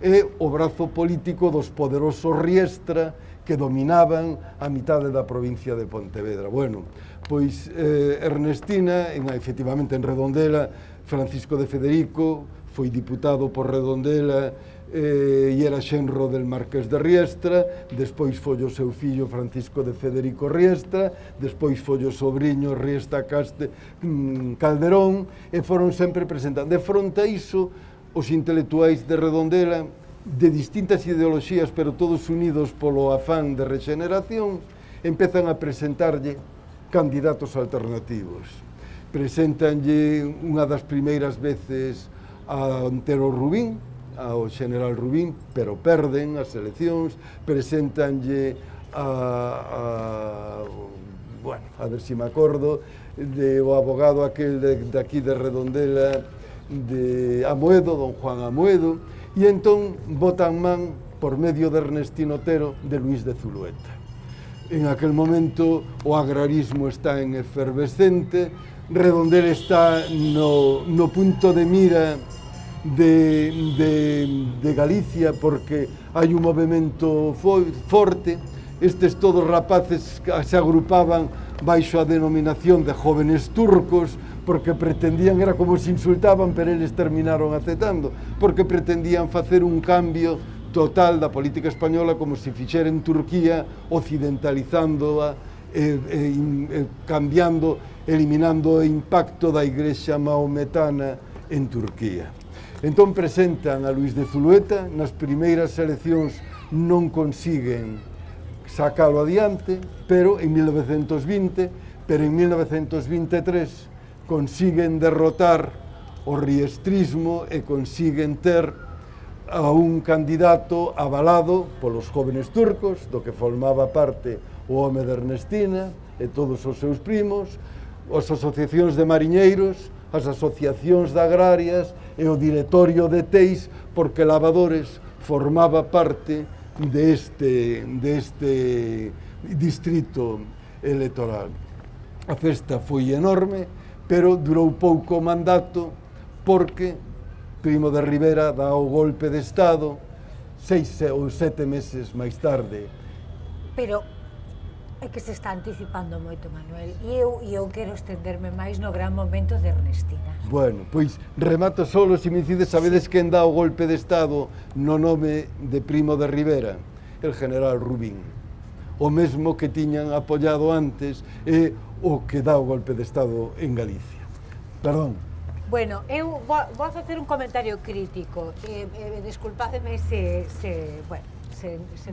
e o brazo político dos poderosos Riestra, que dominaban a mitade da provincia de Pontevedra. Bueno, pois Ernestina, efectivamente en Redondela, Francisco de Federico foi diputado por Redondela e era xenro del Marqués de Riestra, despois foi o seu fillo Francisco de Federico Riestra, despois foi o sobrinho Riestra Calderón, e foron sempre presentando. De fronte a iso, os intelectuais de Redondela, de distintas ideoloxías, pero todos unidos polo afán de regeneración, empezan a presentarlle candidatos alternativos. Presentanlle unha das primeiras veces a Antero Rubín, ao general Rubín, pero perden as eleccións. Presentanlle a ver se me acordo, o abogado aquel de aquí de Redondela, de Amoedo, don Juan Amoedo, e entón botan man, por medio de Ernestino Otero, de Luis de Zulueta. En aquel momento o agrarismo está en efervescente, Redondela está no punto de mira de Galicia, porque hai un movimento forte. Estes todos rapaces se agrupaban baixo a denominación de jóvenes turcos, porque pretendían, era como se insultaban, pero eles terminaron aceptando, porque pretendían facer un cambio total da política española, como se fixera en Turquía, occidentalizándoa, cambiando, eliminando o impacto da Igrexa maometana en Turquía. Entón presentan a Luis de Zulueta, nas primeiras eleccións non consiguen sacalo adiante, pero en 1920, pero en 1923 consiguen derrotar o riestrismo e consiguen ter a un candidato avalado polos jóvenes turcos, do que formaba parte o home de Ernestina e todos os seus primos, as asociacións de mariñeiros, as asociacións de agrarias e o directorio de Teis, porque Lavadores formaba parte deste distrito electoral. A festa foi enorme, pero durou pouco o mandato, porque Primo de Rivera dá o golpe de Estado 6 ou 7 meses máis tarde. Pero é que se está anticipando moito, Manuel, e eu quero estenderme máis no gran momento de Ernestina. Bueno, pois remato solo, se me dicides, sabedes quen dá o golpe de Estado no nome de Primo de Rivera? El general Rubín, o mesmo que tiñan apoiado antes e o que dá o golpe de Estado en Galicia. Perdón. Bueno, eu vou facer un comentario crítico, desculpademe se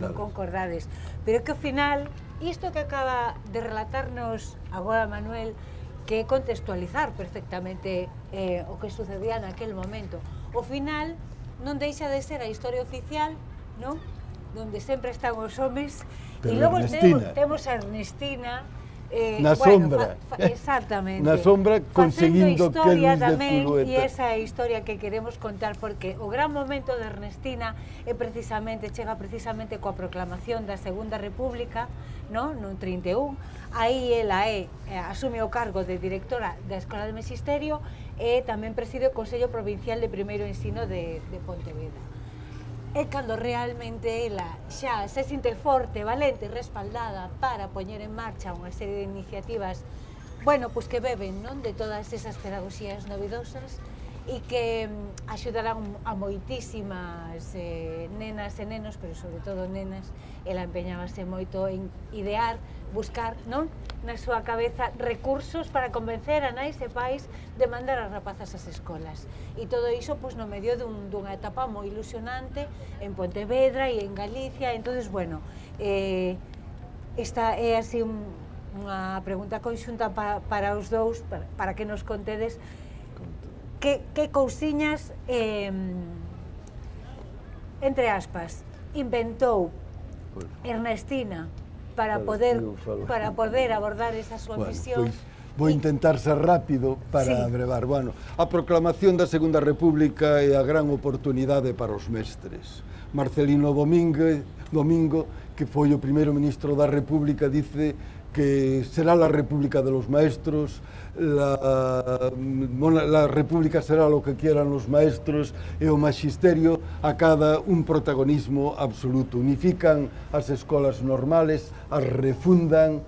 non concordades, pero que ao final, isto que acaba de relatarnos agora Manuel, que é contextualizar perfectamente o que sucedía naquel momento. Ao final, non deixa de ser a historia oficial, non? Donde sempre están os homes, e logo temos a Ernestina, na sombra, exactamente, na sombra conseguindo que Luis de Zulueta. E esa é a historia que queremos contar, porque o gran momento de Ernestina chega precisamente coa proclamación da Segunda República, no 31, aí ela asume o cargo de directora da Escola de Magisterio e tamén preside o Consello Provincial de Primeiro Ensino de Pontevedra. É cando realmente ela xa se sinte forte, valente, respaldada para poñer en marcha unha serie de iniciativas, bueno, pois que beben, non, de todas esas pedagogías novidosas e que axudarán a moitísimas nenas e nenos, pero sobre todo nenas. Ela empeñábase moito en idear, buscar, non, na súa cabeza recursos para convencer a nais e pais de mandar as rapazas ás escolas. E todo iso, pois, no medio dunha etapa moi ilusionante en Pontevedra e en Galicia. Entonces, bueno, esta é así unha pregunta conxunta para os dous, para que nos contedes que cousiñas, entre aspas, inventou Ernestina para poder abordar esa súa misión Vou intentar ser rápido para brevar. Bueno, a proclamación da Segunda República é a gran oportunidade para os mestres. Marcelino Domingo, que foi o primeiro ministro da República, dice que será la República de los Maestros, la República será lo que quieran los maestros, e o magisterio acada un protagonismo absoluto. Unifican as escolas normales, as refundan,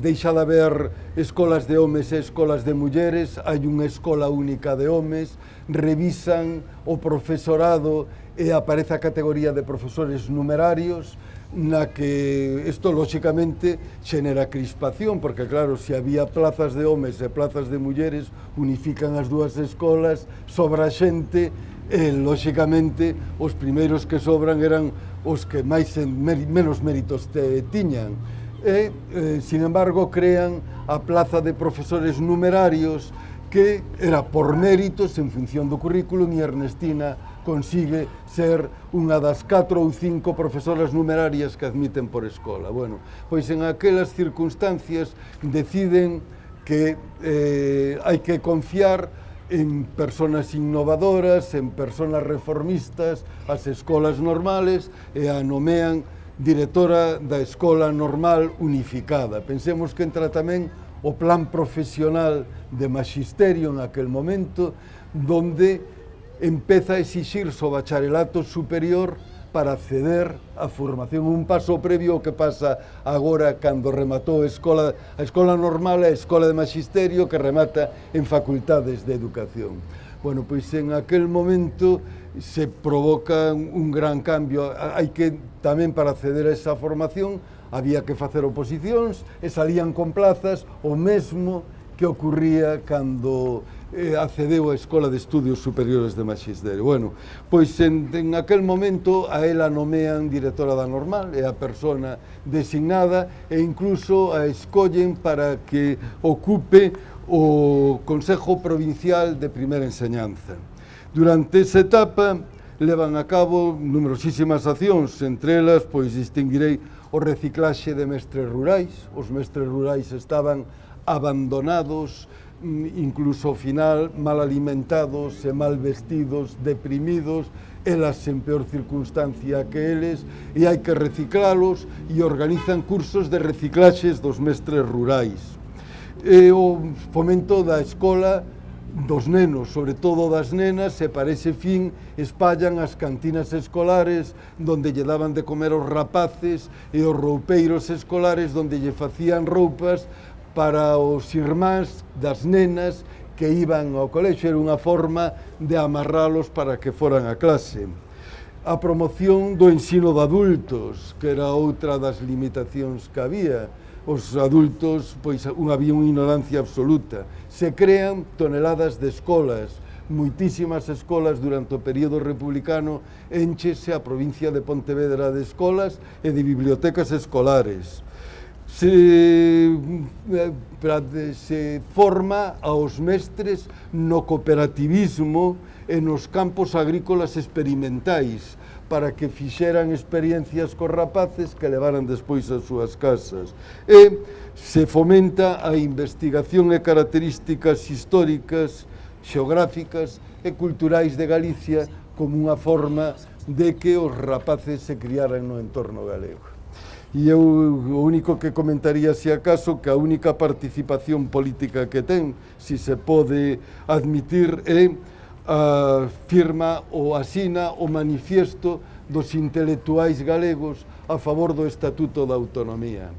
deixa de haber escolas de homes e escolas de mulleres, hai unha escola única de homes, revisan o profesorado e aparece a categoría de profesores numerarios, na que isto, lóxicamente, xenera crispación, porque, claro, se había plazas de homes e plazas de mulleres, unifican as dúas escolas, sobra xente, e, lóxicamente, os primeiros que sobran eran os que menos méritos tiñan. E, sin embargo, crean a plaza de profesores numerarios, que era por méritos en función do currículum, e Ernestina consigue ser unha das 4 ou 5 profesoras numerarias que admiten por escola. Bueno, pois en aquelas circunstancias deciden que hai que confiar en personas innovadoras, en personas reformistas, as escolas normales, e a nomean directora da Escola Normal Unificada. Pensemos que entra tamén o plan profesional de magisterio en aquel momento, donde empeza a exixirse o bacharelato superior para acceder á formación, un paso previo ao que pasa agora cando rematou a escola normal e a escola de magisterio, que remata en facultades de educación. Bueno, pois en aquel momento se provoca un gran cambio. Hai que tamén, para acceder a esa formación, había que facer oposicións e salían con plazas, o mesmo que ocurría cando accedeu á Escola de Estudios Superiores de Magisterio. Bueno, pois en aquel momento a ela nomean directora da Normal, é a persona designada, e incluso a escollen para que ocupe o Consejo Provincial de Primeira Enseñanza. Durante esa etapa levan a cabo numerosísimas accións, entre elas, pois, distinguirei o reciclaxe de mestres rurais. Os mestres rurais estaban abandonados, incluso ao final mal alimentados e mal vestidos, deprimidos, elas en peor circunstancia que eles, e hai que reciclalos, e organizan cursos de reciclaxes dos mestres rurais. E o fomento da escola dos nenos, sobre todo das nenas, e para ese fin espallan as cantinas escolares donde lle daban de comer aos rapaces, e os roupeiros escolares donde lle facían roupas para os irmáns das nenas que iban ao colexio. Era unha forma de amarralos para que foran a clase. A promoción do ensino de adultos, que era outra das limitacións que había. Os adultos, pois, había unha ignorancia absoluta. Se crean toneladas de escolas, moitísimas escolas durante o período republicano, enchese a provincia de Pontevedra de escolas e de bibliotecas escolares. Se forma aos mestres no cooperativismo e nos campos agrícolas experimentais, para que fixeran experiencias cos rapaces que levaran despois as súas casas. E se fomenta a investigación e características históricas, xeográficas e culturais de Galicia como unha forma de que os rapaces se criaran no entorno galego. E eu o único que comentaría, se acaso, que a única participación política que ten, si se pode admitir, é a firma ou asina o manifiesto dos intelectuais galegos a favor do Estatuto da Autonomía.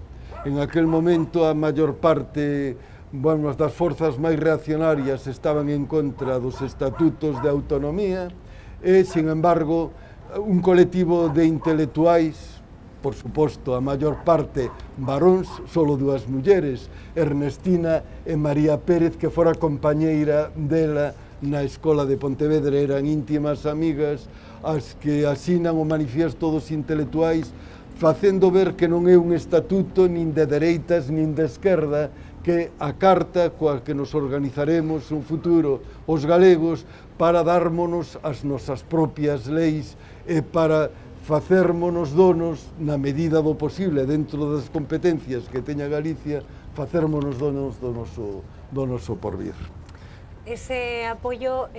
En aquel momento a maior parte das forzas máis reaccionarias estaban en contra dos estatutos de autonomía e, sin embargo, un colectivo de intelectuais, por suposto, a maior parte varóns, solo 2 mulleres, Ernestina e María Pérez, que fora compañeira dela na Escola de Pontevedra, eran íntimas amigas, as que asinan o manifiesto dos intelectuais, facendo ver que non é un estatuto nin de dereitas nin de esquerda, que a carta coa que nos organizaremos un futuro os galegos para dármonos as nosas propias leis e para facérmonos donos, na medida do posible, dentro das competencias que teña Galicia, facermonos donos do noso porvir. Ese apoio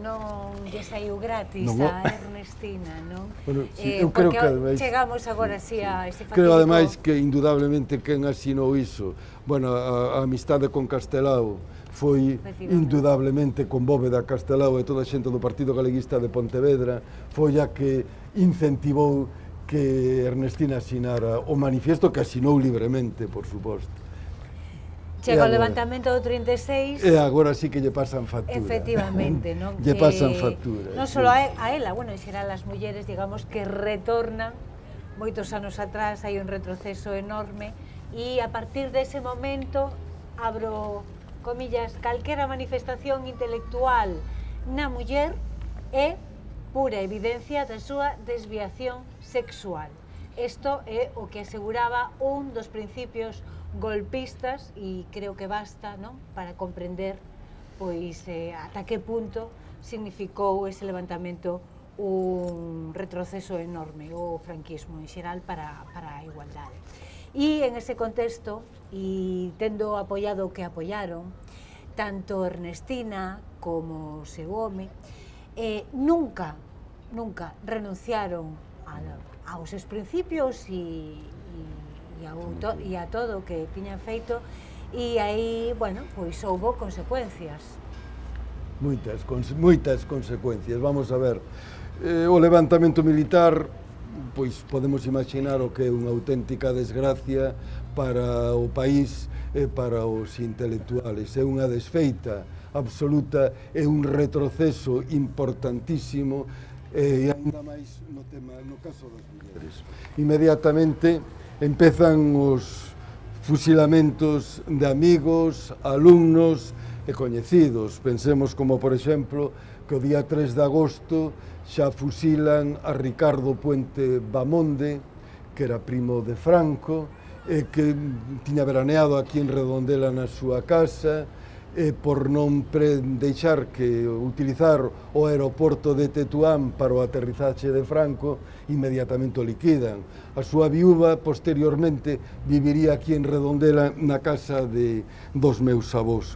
non lle saiu gratis a Ernestina, non? Bueno, sí, eu creo que ademais, chegamos agora así a ese fatídico... Creo ademais que indudablemente quen asinou iso, bueno, a amistade con Castelao foi indudablemente con Bóveda Castelao e toda a xente do Partido Galeguista de Pontevedra, foi a que incentivou que Ernestina asinara o manifiesto, que asinou libremente, por suposto. Chega o levantamento do 36... E agora sí que lle pasan factura. Efectivamente, non? Lle pasan factura. Non só a ela, bueno, en xeral as mulleres, digamos, que retornan moitos anos atrás, hai un retroceso enorme, e a partir dese momento, abro comillas, calquera manifestación intelectual na muller é pura evidencia da súa desviación sexual. Isto é o que aseguraba un dos principios golpistas e creo que basta, non, para comprender pois ata que punto significou ese levantamento un retroceso enorme o franquismo en xeral para a igualdade. E en ese contexto, e tendo apoiado o que apoiaron, tanto Ernestina como o seu home, nunca renunciaron aos seus principios e a todo o que tiñan feito, e aí, bueno, pois houbo consecuencias. Moitas consecuencias, vamos a ver. O levantamento militar, pois podemos imaginar o que é unha auténtica desgracia para o país e para os intelectuales. É unha desfeita absoluta, é un retroceso importantísimo, e ainda máis no caso das mulleres. Inmediatamente empezan os fusilamentos de amigos, alumnos e coñecidos. Pensemos como, por exemplo, que o día 3 de agosto xa fusilan a Ricardo Puente Bamonde, que era primo de Franco, e que tiña veraneado aquí en Redondela na súa casa, e por non deixar que utilizar o aeroporto de Tetuán para o aterrizaxe de Franco, inmediatamente o liquidan. A súa viúva, posteriormente, viviría aquí en Redondela na casa dos meus avós.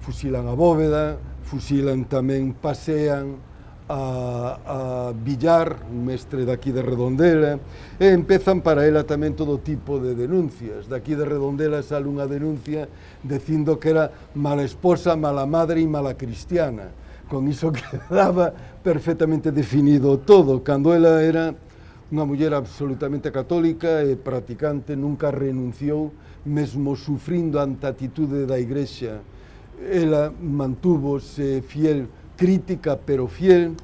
Fusilan a Bóveda, fusilan tamén, pasean a Villar, un mestre daqui de Redondela, e empezan para ela tamén todo tipo de denuncias. Daqui de Redondela sale unha denuncia dicindo que era mala esposa, mala madre e mala cristiana. Con iso quedaba perfectamente definido todo. Cando ela era unha muller absolutamente católica e practicante, nunca renunciou, mesmo sufrindo ante a atitude da Igrexa. Ela mantúvose fiel, crítica pero fiel,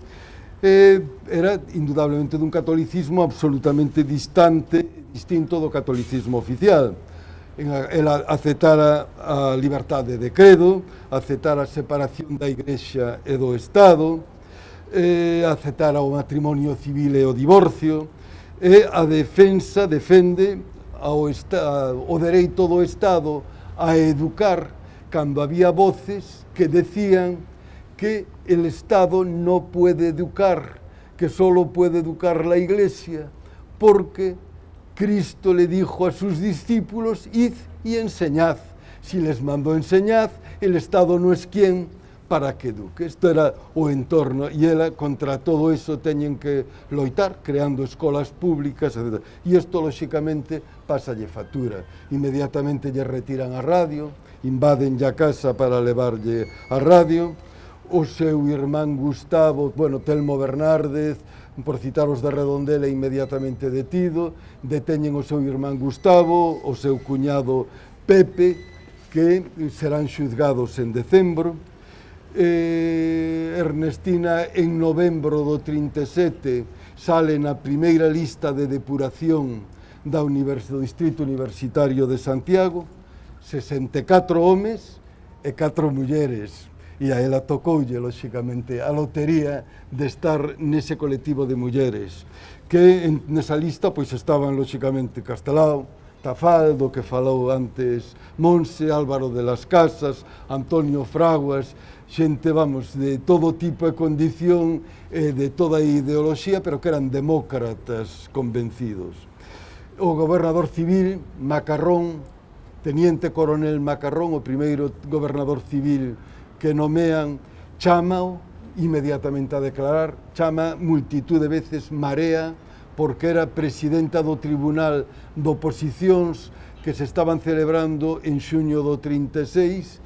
era indudablemente dun catolicismo absolutamente distinto do catolicismo oficial. Ela aceptara a liberdade de credo, aceptara a separación da Igrexa e do Estado, aceptara o matrimonio civil e o divorcio, e a defende o dereito do Estado a educar cando había voces que decían que el Estado no puede educar, que solo puede educar la Iglesia, porque Cristo le dijo a sus discípulos, id y enseñad. Si les mandó enseñad, el Estado no es quien para que eduque. Isto era o entorno, e ela, contra todo eso, teñen que loitar, creando escolas públicas, etc. E isto, lóxicamente, pasalle factura. Inmediatamente lle retiran a radio, invaden a casa para levarlle a radio. O seu irmán Gustavo, bueno, Telmo Bernárdez, por citar os de Redondela, inmediatamente detido, deteñen o seu irmán Gustavo, o seu cuñado Pepe, que serán xuzgados en decembro. Ernestina, en novembro do 37, sale na primeira lista de depuración do Distrito Universitario de Santiago, 64 homes e 4 mulleres. E a ela tocoulle, lóxicamente, a lotería de estar nese colectivo de mulleres, que nesa lista pois estaban, lóxicamente, Castelao, Tafaldo, que falou antes Monse, Álvaro de las Casas, Antonio Fraguas, xente, vamos, de todo tipo e condición, de toda a ideoloxía, pero que eran demócratas convencidos. O gobernador civil, Macarrón, Teniente Coronel Macarrón, o primeiro gobernador civil que nomean, chámao inmediatamente a declarar, chama multitud de veces Marea, porque era presidenta do Tribunal de Oposicións que se estaban celebrando en xuño do 36,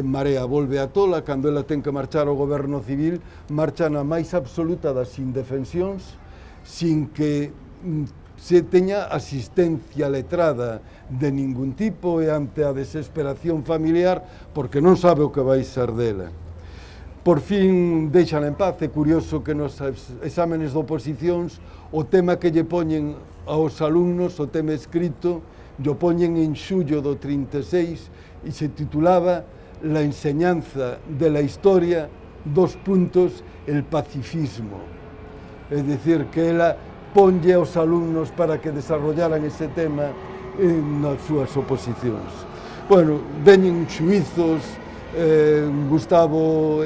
Marea volve a tola, cando ela ten que marchar ao goberno civil, marcha na máis absoluta das indefensións, sin que se teña asistencia letrada de ningún tipo e ante a desesperación familiar, porque non sabe o que vai ser dela. Por fin deixan en paz. É curioso que nos exámenes de oposicións o tema que lle poñen aos alumnos, o tema escrito, lle poñen en xullo do 36 e se titulaba La enseñanza de la historia, el pacifismo. É dicir, que ela ponlle aos alumnos para que desarrollaran ese tema nas súas oposicións. Bueno, veñen xuizos, Gustavo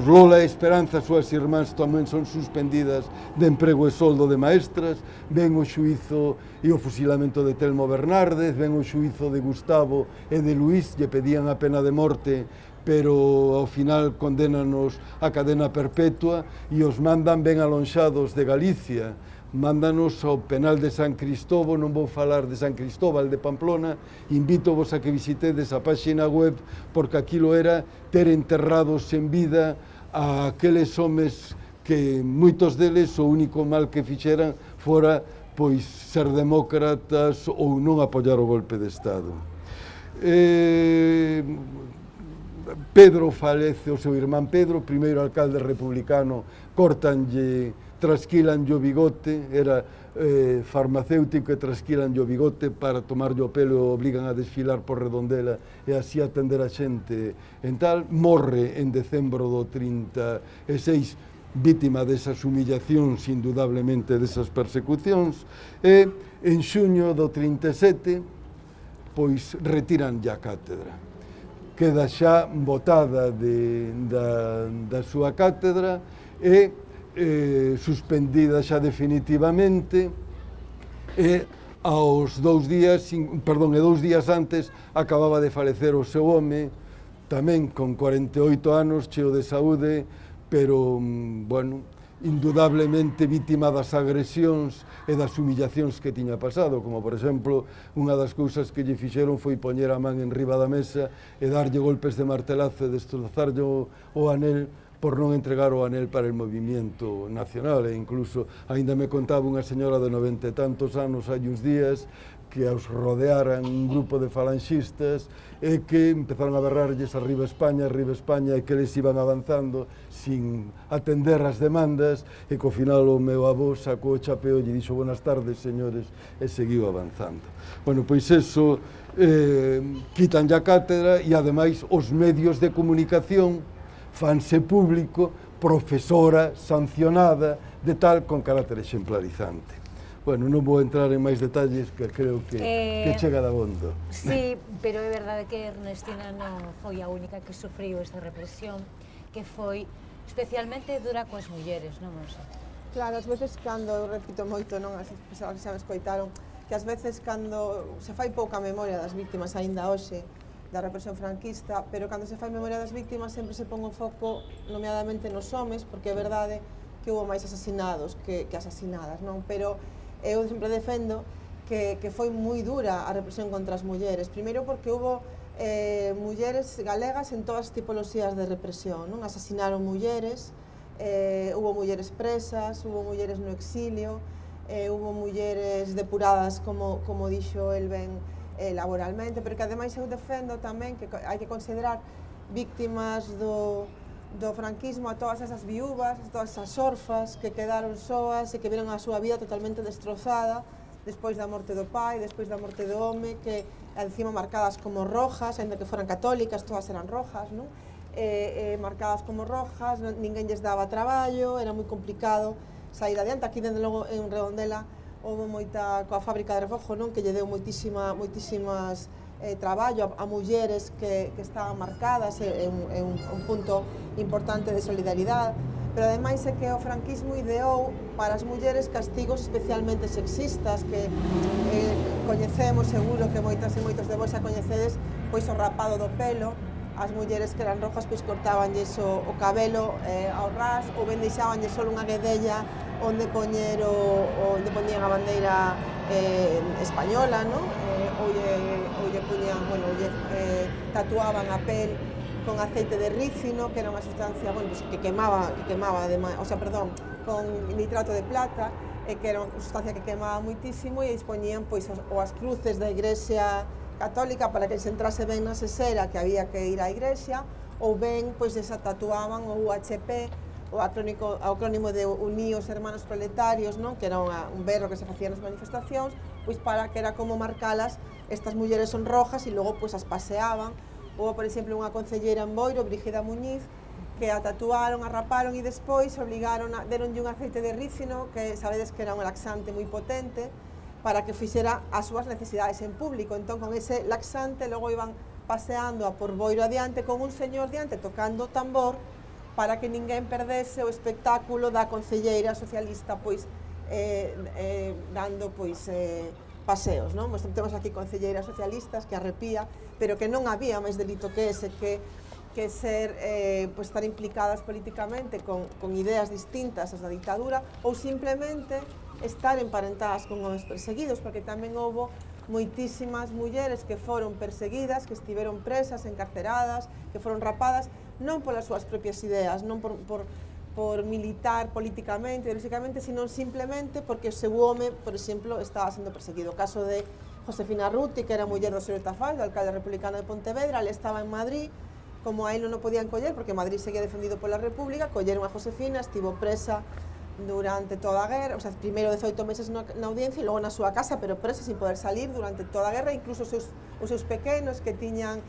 Lola e Esperanza, súas irmás tamén son suspendidas de emprego e soldo de maestras, ven o xuízo e o fusilamento de Telmo Bernárdez, ven o xuízo de Gustavo e de Luís, lle pedían a pena de morte, pero ao final condénanos a cadena perpetua e os mandan ben alonxados de Galicia, mándanos ao penal de San Cristóbal, non vou falar de San Cristóbal de Pamplona, invítovos a que visitedes a páxina web, porque aquilo era ter enterrados en vida a aqueles homes que moitos deles o único mal que fixeran fora pois ser demócratas ou non apoiar o golpe de Estado. Pedro falece, o seu irmán Pedro, primeiro alcalde republicano, cortanlle, trasquilanlle o bigote, era farmacéutico e trasquilanlle o bigote para tomarlle o pelo e obligan a desfilar por Redondela e así atender a xente en tal. Morre en decembro do 36, vítima desas humillacións, indudablemente desas persecucións, e en xuño do 37, pois retiranlle a cátedra. Queda xa botada da súa cátedra e suspendida xa definitivamente, e aos 2 días, e 2 días antes acababa de falecer o seu home, tamén con 48 anos, cheo de saúde, pero, bueno, indudablemente vítima das agresións e das humillacións que tiña pasado, como, por exemplo, unha das cousas que lle fixeron foi poñer a man en riba da mesa e darlle golpes de martelazo e destrozarlle o anel por non entregar o anel para el movimiento nacional, e incluso, aínda me contaba unha señora de 90 e tantos anos hai uns días, que os rodearan un grupo de falanxistas e que empezaron a berrarlles arriba España, e que eles iban avanzando sin atender as demandas, e que ao final o meu avó sacou o chapeo e lle dixo buenas tardes, señores, e seguiu avanzando. Bueno, pois eso, quitanlle a cátedra e, ademais, os medios de comunicación fanse público, profesora sancionada, de tal, con carácter exemplarizante. Bueno, non vou entrar en máis detalles, que creo que chega dabondo. Sí, pero é verdade que Ernestina non foi a única que sufriu esta represión, que foi especialmente dura coas mulleres, non sei? Claro, ás veces cando, eu repito moito, non, as persoas que xa me escoitaron, que ás veces cando se fai pouca memoria das víctimas aínda hoxe, da represión franquista, pero cando se fai memoria das víctimas sempre se pon o foco nomeadamente nos homes, porque é verdade que houve máis asasinados que asasinadas, non? Pero eu sempre defendo que foi moi dura a represión contra as mulleres, primeiro porque houve mulleres galegas en todas as tipoloxías de represión, non? Asasinaron mulleres, houve mulleres presas, houve mulleres no exilio, houve mulleres depuradas, como dixo el ben, laboralmente, pero que ademais eu defendo tamén que hai que considerar víctimas do franquismo a todas esas viúvas, a todas esas orfas que quedaron soas e que viron a súa vida totalmente destrozada despois da morte do pai, despois da morte do home, que encima marcadas como rojas, ainda que foran católicas, todas eran rojas, non? Marcadas como rojas, ninguén lles daba traballo, era moi complicado sair adiante. Aquí, dende logo, en Redondela, houve moita, coa fábrica de refojo, non, que lle deu moitísimas traballo a mulleres que estaban marcadas, é un punto importante de solidaridade, pero ademais é que o franquismo ideou para as mulleres castigos especialmente sexistas que coñecemos, seguro que moitas e moitos de vos xa coñecedes, pois o rapado do pelo. As mulleres que eran rojas pois cortabanlles o cabelo ao ras ou ben deixabanlles só unha guedella onde poñían a bandeira española, non? Ou lle poñían, bueno, tatuaban a pel con aceite de rícino, que era unha sustancia, bueno, pues, que quemaba ademais, o sea, perdón, con nitrato de plata, que era unha sustancia que quemaba muitísimo e expoñían pois as cruces da Igrexa Católica para que se entrase ben na sesera que había que ir á igrexa, ou ben pois esa tatuaban o UHP, o acrónimo de Uníos Hermanos Proletarios, non? Que era un berro que se facía nas manifestacións, pois para que era como marcalas, estas mulleres son rojas e logo pois as paseaban. Ou, por exemplo, unha concelleira en Boiro, Brígida Muñiz, que a tatuaron, a raparon e despois deronlle un aceite de rícino, que sabedes que era un laxante moi potente, para que fixera as súas necesidades en público. Entón, con ese laxante, logo iban paseando a por Boiro adiante con un señor diante tocando tambor para que ninguén perdese o espectáculo da concelleira socialista pois dando pois paseos, non? Pois temos aquí concelleiras socialistas que arrepía, pero que non había máis delito que ese, que ser, pois estar implicadas políticamente con ideas distintas ás da ditadura ou simplemente estar emparentadas con os perseguidos, porque tamén houbo moitísimas mulleres que foron perseguidas, que estiveron presas, encarceradas, que foron rapadas, non polas súas propias ideas, non por militar políticamente, ideolóxicamente, sino simplemente porque o seu home, por exemplo, estaba sendo perseguido. O caso de Josefina Ruti, que era muller do señor Tafall, do alcalde republicano de Pontevedra, ele estaba en Madrid, como a él non o podían coller, porque Madrid seguía defendido pola República, colleron a Josefina, estivo presa durante toda a guerra, o sea, primeiro 18 meses na audiencia e logo na súa casa, pero presa sin poder salir durante toda a guerra, incluso os seus pequenos que tiñan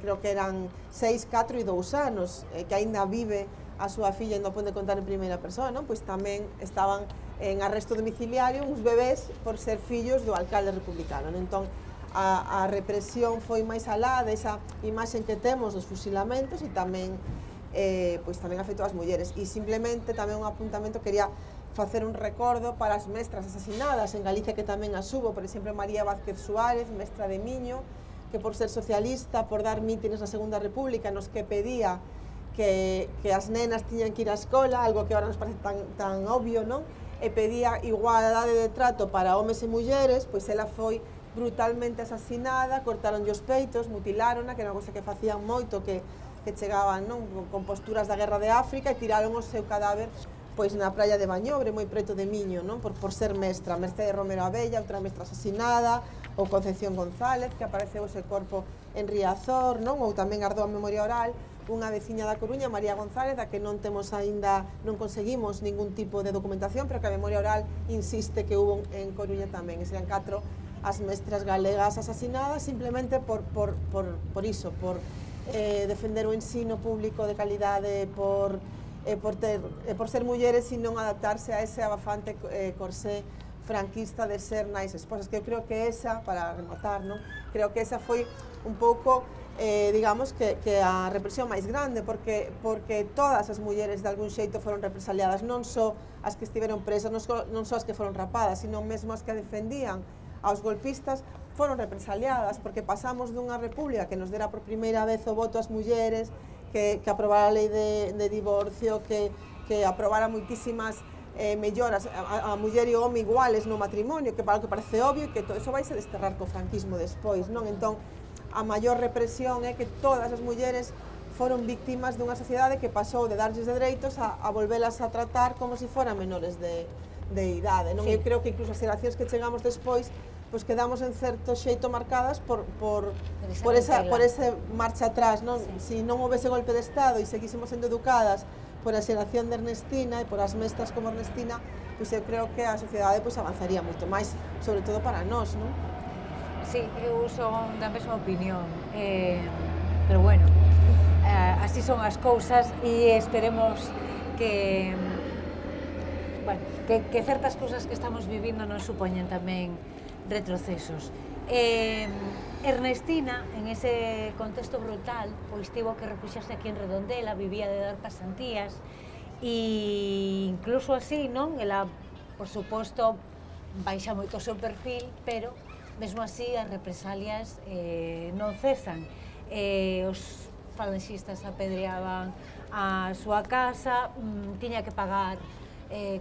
creo que eran 6, 4 e 2 anos, que aínda vive a súa filla e non pode contar en primeira persoa, non? Pois tamén estaban en arresto domiciliario uns bebés por ser fillos do alcalde republicano, non? Entón, a represión foi máis alá desa imaxen que temos dos fusilamentos e tamén pois tamén afectou as mulleres. E simplemente tamén un apuntamento, quería facer un recordo para as mestras asasinadas en Galicia, que tamén as hubo, por exemplo, María Vázquez Suárez, mestra de Miño, que por ser socialista, por dar mítines na Segunda República, nos que pedía que as nenas tiñan que ir á escola, algo que agora nos parece tan obvio, non? E pedía igualdade de trato para homes e mulleres, pois ela foi brutalmente asasinada, cortaronlle os peitos, mutilárona, que era unha cosa que facían moito, que chegaban, non, con posturas da Guerra de África, e tiraron o seu cadáver pois na praia de Bañobre, moi preto de Miño, non? Por ser mestra. Mercedes Romero Abella, outra mestra asasinada, ou Concepción González, que apareceu ese corpo en Riazor, non? Ou tamén ardou a memoria oral unha veciña da Coruña, María González, a que non temos aínda, non conseguimos ningún tipo de documentación, pero que a memoria oral insiste que hubo en Coruña tamén. E serían 4 as mestras galegas asasinadas simplemente por iso, por defender o ensino público de calidade, por ser mulleres e non adaptarse a ese abafante corsé franquista de ser nais esposas, que eu creo que esa, para rematar, non? Creo que esa foi un pouco, digamos, que a represión máis grande, porque todas as mulleres de algún xeito foron represaliadas, non só as que estiveron presas, non só as que foron rapadas, sino mesmo as que defendían aos golpistas, foron represaliadas, porque pasamos dunha república que nos dera por primeira vez o voto ás mulleres, que aprobara a lei de divorcio, que aprobara moitísimas melloras a muller e o home iguales no matrimonio, que para o que parece obvio, e que todo iso vai se desterrar co franquismo despois, non? Entón, a maior represión é que todas as mulleres foron víctimas dunha sociedade que pasou de darlles de dereitos a volvelas a tratar como se foran menores de idade, non? Eu creo que incluso as xeracións que chegamos despois pois quedamos en certo xeito marcadas por ese marcha atrás, non? Si non houvese golpe de Estado e seguísemos sendo educadas por a xeración de Ernestina e por as mestras como Ernestina, pois eu creo que a sociedade pois avanzaría moito máis, sobre todo para nós, non? Sí, eu son da mesma opinión, pero bueno, así son as cousas e esperemos que certas cousas que estamos vivindo non supoñen tamén retrocesos. Ernestina, en ese contexto brutal, pois tivo que refuxiarse aquí en Redondela, vivía de dar pasantías, e incluso así, non? Ela, por suposto, baixa moito o seu perfil, pero, mesmo así, as represalias non cesan. Os falanxistas apedreaban a súa casa, tiña que pagar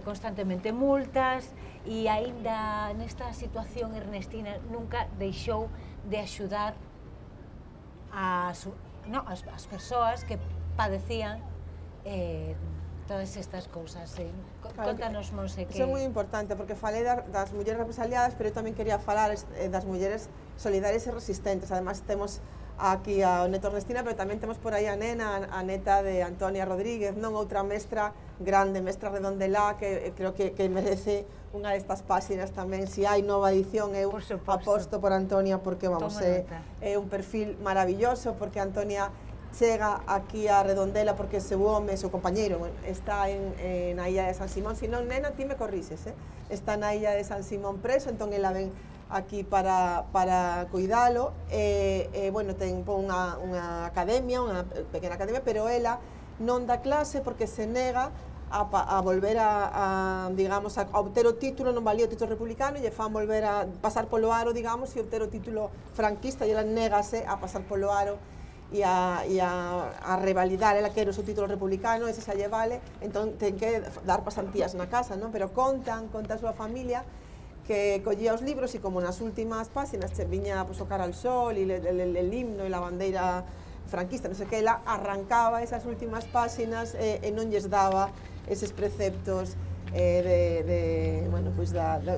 constantemente multas, e aínda nesta situación Ernestina nunca deixou de axudar as persoas que padecían todas estas cousas. Contanos, Monse, que... Iso é moi importante, porque falei das mulleres represaliadas, pero eu tamén quería falar das mulleres solidarias e resistentes. Además, temos aquí a neto Ernestina, pero tamén temos por aí a nena, a neta de Antonia Rodríguez, non? Outra mestra grande, mestra redondelá, que creo que merece unha destas páxinas tamén. Se hai nova edición, eu aposto por Antonia, porque, vamos, é un perfil maravilloso, porque Antonia chega aquí a Redondela porque seu home, seu compañeiro, está na illa de San Simón. Se non, nena, ti me corrixes, está na illa de San Simón preso, entón ela ven aquí para cuidalo. Bueno, ten unha academia, unha pequena academia, pero ela non dá clase porque se nega a volver digamos, a obter o título, non valía o título republicano, e lle fan volver a pasar polo aro, digamos, e obter o título franquista, e ela negase a pasar polo aro e a revalidar. Ela quere o seu título republicano, ese xa lle vale, entón ten que dar pasantías na casa, non? Pero conta a súa familia que collía os libros, e como nas últimas páxinas viña o cara al sol e el himno e la bandeira franquista, non sei que, ela arrancaba esas últimas páxinas e non lles daba eses preceptos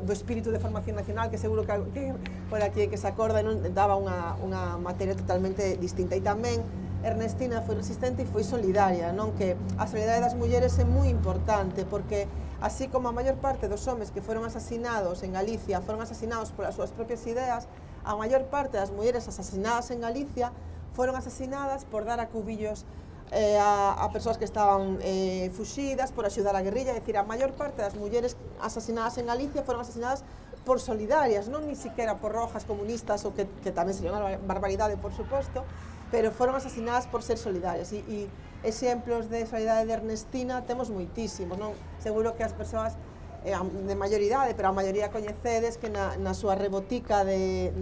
do espírito de formación nacional, que seguro que por aquí que se acorda, non daba unha materia totalmente distinta. E tamén Ernestina foi resistente e foi solidaria, non? Que a solidariedade das mulleres é moi importante, porque así como a maior parte dos homes que foron asasinados en Galicia foron asasinados polas súas propias ideas, a maior parte das mulleres asasinadas en Galicia foron asasinadas por dar acubillos a persoas que estaban fuxidas, por axudar a guerrilla. É dicir, a maior parte das mulleres asasinadas en Galicia foron asasinadas por solidarias, non ni siquiera por rojas comunistas, ou que tamén sería unha barbaridade, por suposto, pero foron asasinadas por ser solidarias. E exemplos de solidariedade de Ernestina temos moitísimos, non? Seguro que as persoas de maior idade, pero a maioría coñecedes que na súa rebotica de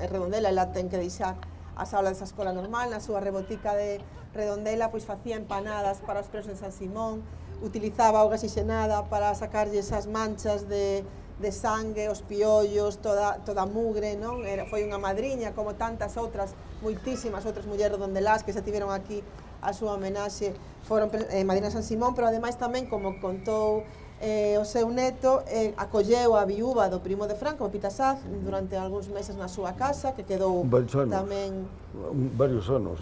Redondela, ela ten que deixar as aulas desa escola normal, na súa rebotica de Redondela, pois facía empanadas para os presos de San Simón, utilizaba auga oxigenada para sacarlle esas manchas de sangue, os piollos, toda a mugre, non? Foi unha madriña, como tantas outras, moitísimas outras mulleres redondelás que se tiveron aquí a súa homenaxe, foron madrinas San Simón, pero ademais tamén, como contou o seu neto, acolleu a viúva do primo de Franco, Pita Saz, durante algúns meses na súa casa, que quedou tamén... Varios anos.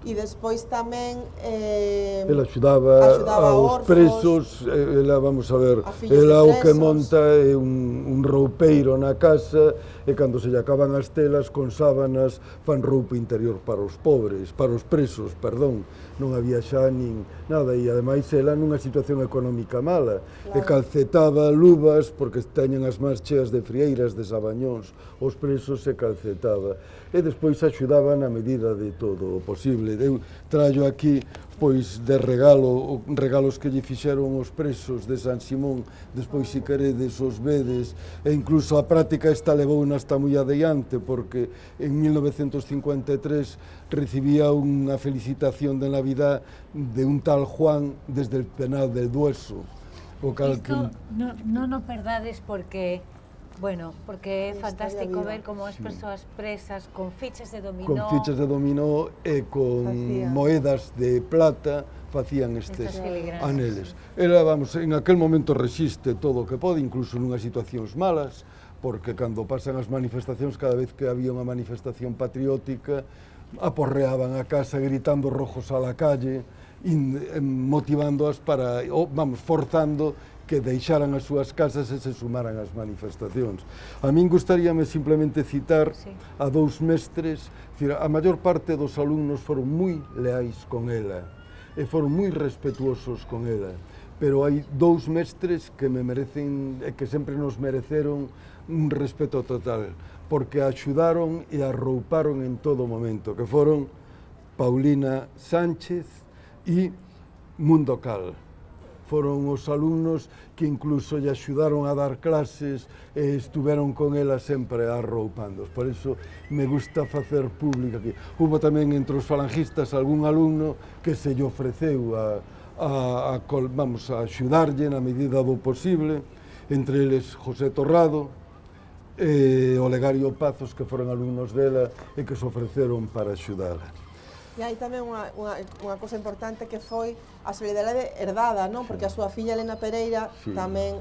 E despois tamén... Ela axudaba aos presos, ela, vamos a ver, ela o que monta é un roupeiro na casa, e cando se lle acaban as telas, con sábanas, fan roupa interior para os pobres, para os presos, perdón. Non había xa nin nada, e ademais ela nunha situación económica mala, e calcetaba luvas, porque teñen as mans cheas de frieiras, de sabañóns, os presos se calcetaba, e despois axudaba na medida de todo o posible. Eu traio aquí, pois, de regalos que lle fixeron os presos de San Simón, despois, se queredes, os vedes, e incluso a práctica esta levou hasta moi adiante, porque en 1953 recibía unha felicitación de Navidad de un tal Juan desde el penal del Dueso. Isto non o perdades porque... Bueno, porque é fantástico ver como as persoas presas con fichas de dominó... Con fichas de dominó e con moedas de plata facían estes aneles. Ela, vamos, en aquel momento resiste todo o que pode, incluso nunhas situacións malas, porque cando pasan as manifestacións, cada vez que había unha manifestación patriótica, aporreaban a casa gritando rojos a la calle, motivándoas para, vamos, forzando que deixaran as súas casas e se sumaran ás manifestacións. A min gustaríame simplemente citar a dous mestres, a maior parte dos alumnos foron moi leais con ela e foron moi respetuosos con ela, pero hai dous mestres que me merecen e que sempre nos mereceron un respeto total, porque axudaron e arrouparon en todo momento, que foron Paulina Sánchez e Mundo Cal. Foron os alumnos que incluso lle axudaron a dar clases e estuveron con ela sempre arroupándoos. Por iso me gusta facer público aquí. Hubo tamén entre os falangistas algún alumno que se lle ofreceu a axudarlle na medida do posible, entre eles José Torrado e Olegario Pazos, que foron alumnos dela e que se ofreceron para axudala. E hai tamén unha cosa importante que foi a solidariedade herdada, non? Porque a súa filla Elena Pereira tamén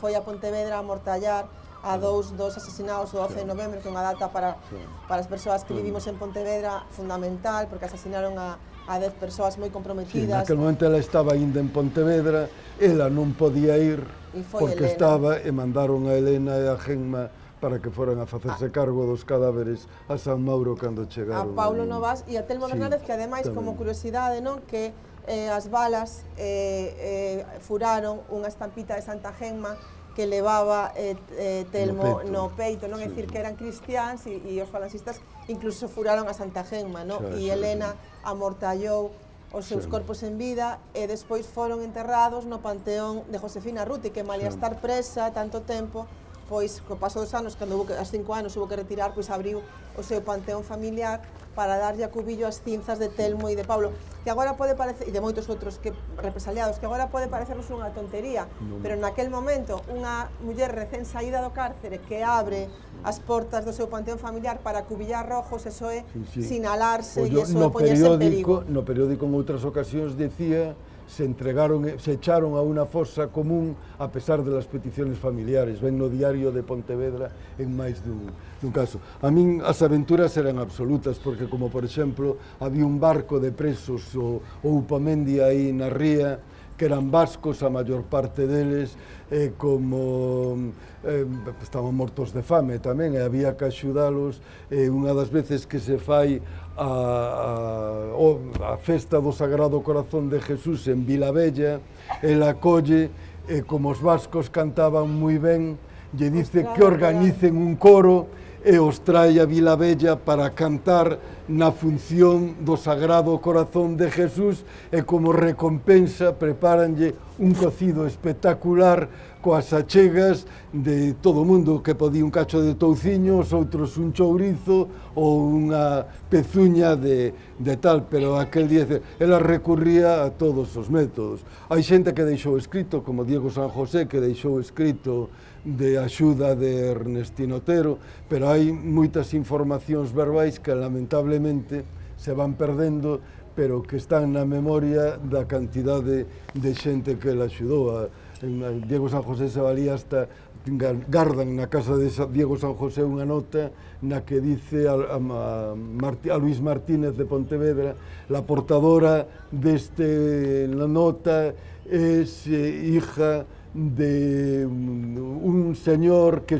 foi a Pontevedra a amortallar a dous asasinados o 12 de novembro, que é unha data para as persoas que vivimos en Pontevedra fundamental, porque asasinaron a 10 persoas moi comprometidas. Naquele momento ela estaba ainda en Pontevedra, ela non podía ir porque estaba, e mandaron a Elena e a Genma para que foran a facerse cargo dos cadáveres a San Mauro cando chegaron. A Paulo Novas e a Telmo Bernárdez, que ademais, como curiosidade, non, que as balas furaron unha estampita de Santa Genma que levaba Telmo no peito, non? É dicir, que eran cristiáns e os falangistas incluso furaron a Santa Genma, non? E Elena amortallou os seus corpos en vida e despois foron enterrados no panteón de Josefina Ruti, que malia estar presa tanto tempo, pois, co paso dos anos, cando aos 5 anos hubo que retirar, pois abriu o seu panteón familiar para darlle a cubillo as cinzas de Telmo e de Pablo, que agora pode parecer, e de moitos outros represaliados, que agora pode parecernos unha tontería, pero naquel momento unha muller recén saída do cárcere que abre as portas do seu panteón familiar para cubillar rojos, eso é sinalarse e eso é poñerse en perigo. No periódico en outras ocasións decía se echaron a unha fosa común a pesar de las peticiones familiares. Ven no diario de Pontevedra en máis dun caso. A min as aventuras eran absolutas, porque como por exemplo había un barco de presos o Upamendi aí na ría, que eran vascos, a maior parte deles, como estaban mortos de fame tamén, e había que axudalos. Unha das veces que se fai a festa do Sagrado Corazón de Jesús en Vilavella, ela colle, como os vascos cantaban moi ben, lle dice que organicen un coro e os trae a Vilavella para cantar na función do Sagrado Corazón de Jesús, e como recompensa prepáranlle un cocido espectacular coas achegas de todo o mundo, que podía un cacho de touciño, os outros un chourizo ou unha pezuña de tal, pero aquel día ela recurría a todos os métodos. Hai xente que deixou escrito, como Diego San José, que deixou escrito de axuda de Ernestino Otero, pero hai moitas informacións verbais que lamentablemente se van perdendo, pero que están na memoria da cantidade de xente que la axudou. Diego San José se valía hasta, gardan na casa de Diego San José unha nota na que dice a Luis Martínez de Pontevedra: la portadora deste nota es hija de un señor que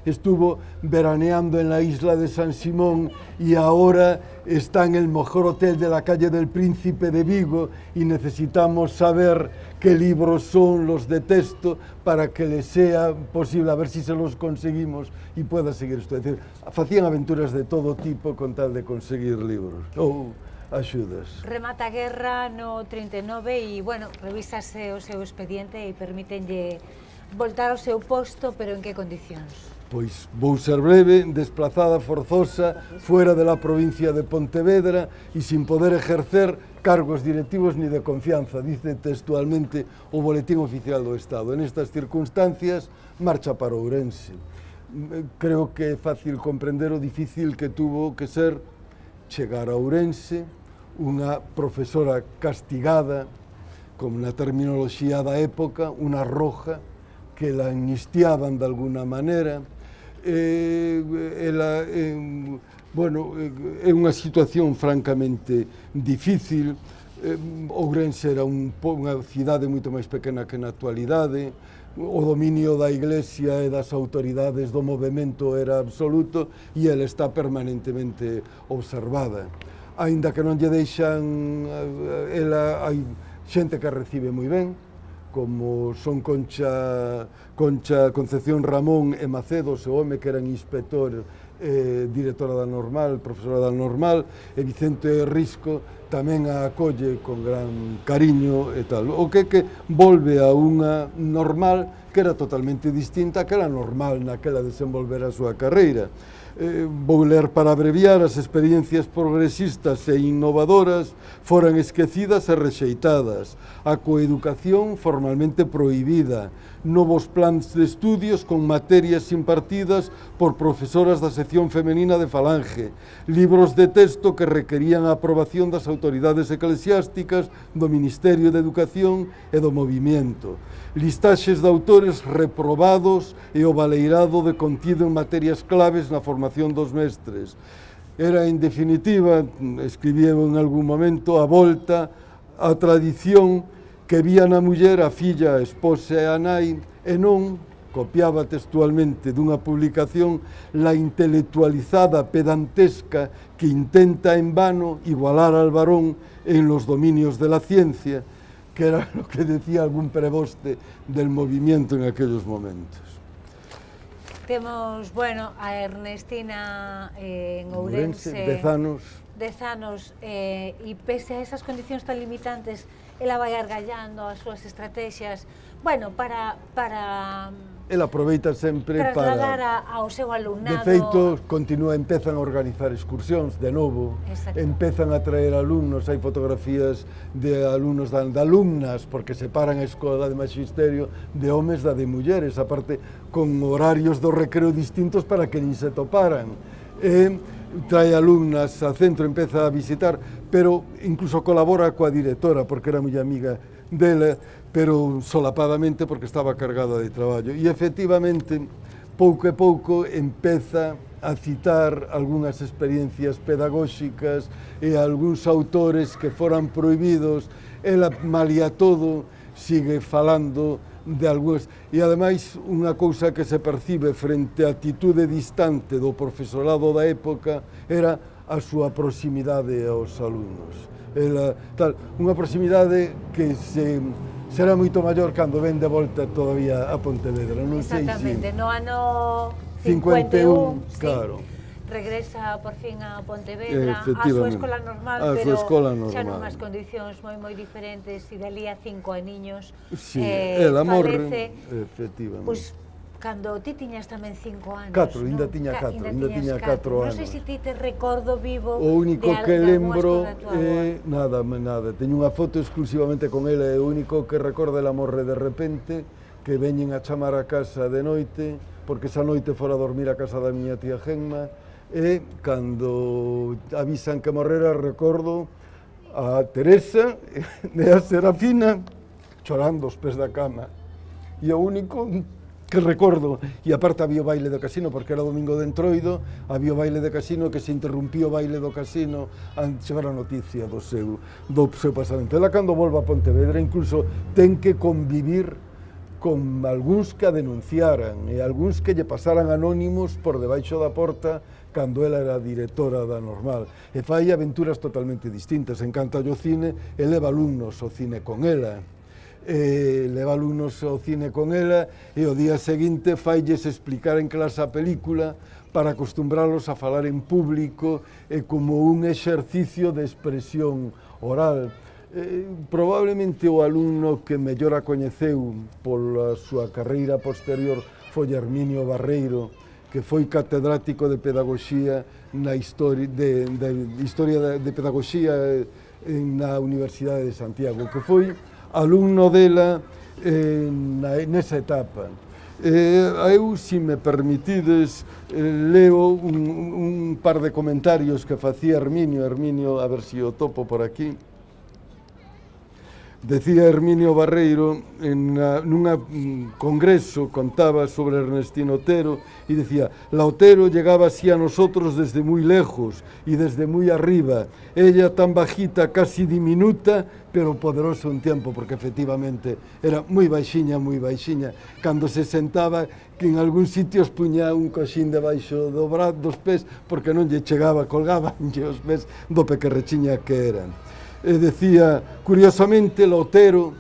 estuvo veraneando en la isla de San Simón y ahora está en el mejor hotel de la calle del Príncipe de Vigo, y necesitamos saber qué libros son los de texto para que le sea posible, a ver si se los conseguimos y pueda seguir esto. Es decir, facían aventuras de todo tipo con tal de conseguir libros ou axudas. Remata a guerra no 39 e, bueno, revísase o seu expediente e permítenlle voltar ao seu posto, pero en que condicións? Pois vou ser breve: desplazada forzosa fuera de la provincia de Pontevedra e sin poder ejercer cargos directivos ni de confianza, dice textualmente o Boletín Oficial do Estado. En estas circunstancias marcha para Ourense. Creo que é fácil comprender o difícil que tuvo que ser chegar a Ourense, unha profesora castigada, como na terminoloxía da época, unha roja, que la amnistiaban de alguna maneira. Bueno, é unha situación francamente difícil. Ourense era unha cidade moito máis pequena que na actualidade, o dominio da Iglesia e das autoridades do movimento era absoluto e ela está permanentemente observada. Aínda que non lle deixan, hai xente que recibe moi ben, como son Concepción Ramón e Macedo, o home que eran inspector, directora da Normal, profesora da Normal, e Vicente Risco tamén a acolle con gran cariño e tal. O que volve a unha Normal que era totalmente distinta que era normal naquela desenvolver a súa carreira. Vou ler para abreviar: as experiencias progresistas e innovadoras foran esquecidas e rexeitadas, a coeducación formalmente prohibida, novos plans de estudios con materias impartidas por profesoras da sección femenina de Falange, libros de texto que requerían a aprobación das autoridades eclesiásticas, do Ministerio de Educación e do Movimiento, listaxes de autores reprobados e o baleirado de contido en materias claves na formación dos mestres. Era, en definitiva, escribía en algún momento, a volta á tradición que vía na muller a filla, a esposa e a nai, e non, copiaba textualmente dunha publicación, la intelectualizada pedantesca que intenta en vano igualar al varón en los dominios de la ciencia, que era lo que decía algún preboste del movimiento en aquellos momentos. Temos, bueno, a Ernestina en Ourense, 10 anos. 10 anos, e pese a esas condicións tan limitantes, ela vai argallando as súas estrategias, bueno, para Ela aproveita sempre trasladar ao seu alumnado. De feito, empezan a organizar excursións de novo, empezan a traer alumnos, hai fotografías de alumnos, de alumnas, porque separan a escola de magisterio de homes da de mulleres, aparte con horarios do recreo distintos para que nin se toparan. Trae alumnas ao centro, empeza a visitar, pero incluso colabora coa directora, porque era moi amiga dela, pero solapadamente porque estaba cargada de traballo. E efectivamente, pouco a pouco, empeza a citar algunhas experiencias pedagóxicas e algúns autores que foran prohibidos. Ela, malia todo, sigue falando de algúns, e ademais unha cousa que se percibe frente á atitude distante do profesorado da época era a súa proximidade aos alumnos. Unha proximidade que será moito maior cando ven de volta todavía a Pontevedra, non sei se... Exactamente, no ano 51, claro. Regresa por fin a Pontevedra, a súa escola normal, pero xa nunhas condicións moi diferentes, e dali a 5 aniños falece, efectivamente. Pois, cando ti tiñas tamén 5 anos, 4, ainda tiña 4 anos. Non sei se ti te recordo vivo o único que lembro é nada, teño unha foto exclusivamente con ela, é o único que recordo. Ela morre de repente, que veñen a chamar a casa de noite, porque esa noite fora a dormir a casa da miña tía Gemma, e cando avisan que morrera, recordo a Teresa e a Serafina chorando aos pés da cama, e o único que recordo, e aparte había o baile do casino, porque era domingo de Entroido, había o baile de casino, que se interrumpía o baile do casino antes chegar a noticia do seu pasamento. Ela, cando volva a Pontevedra, incluso ten que convivir con algúns que a denunciaran e algúns que lle pasaran anónimos por debaixo da porta cando ela era directora da Normal, e fai aventuras totalmente distintas. Encanta o cine e leva alumnos ao cine con ela, e o día seguinte failles explicar en clase a película para acostumbrarlos a falar en público e como un exercicio de expresión oral. Probablemente o alumno que mellor a coñeceu pola súa carreira posterior foi Herminio Barreiro, que foi catedrático de pedagogía na historia de pedagogía na Universidade de Santiago, que foi alumno dela nesa etapa. Eu, se me permitides, leo un par de comentarios que facía Herminio, a ver se o topo por aquí. Decía Herminio Barreiro, nun congreso, contaba sobre Ernestino Otero, y decía: la Otero llegaba así a nosotros desde muy lejos y desde muy arriba, ella tan bajita, casi diminuta, pero poderosa un tiempo, porque efectivamente era moi baixiña, cando se sentaba, que en algún sitios puña un coxín debaixo dos pés, porque non lle chegaba, colgabanlle os pés do pequerrechiña que eran. Decía, curiosamente, Lotero,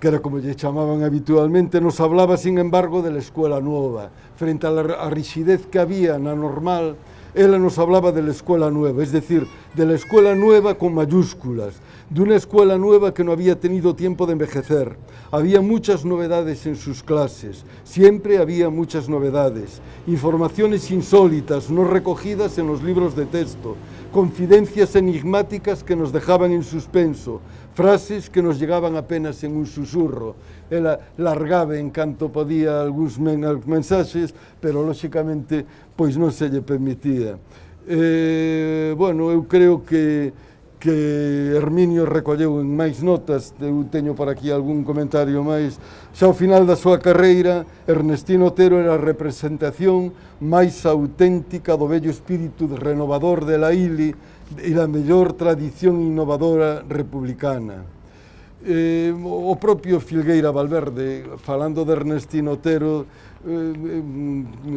que era como lle chamaban habitualmente, nos hablaba, sin embargo, de la escuela nueva. Frente a la rigidez que había na normal, ela nos hablaba de la escuela nueva, es decir, de la escuela nueva con mayúsculas, de una escuela nueva que no había tenido tiempo de envejecer. Había muchas novedades en sus clases, siempre había muchas novedades, informaciones insólitas, no recogidas en los libros de texto, confidencias enigmáticas que nos dejaban en suspenso, frases que nos llegaban apenas en un susurro. Ela largaba en canto podía algúns mensaxes, pero lóxicamente pois non se lle permitía. Bueno, eu creo que Herminio recolleu en máis notas, eu teño por aquí algún comentario máis. Xa ao final da súa carreira, Ernestino Otero era a representación máis auténtica do vello espírito renovador de la ILI e da mellor tradición innovadora republicana. O propio Filgueira Valverde, falando de Ernestino Otero,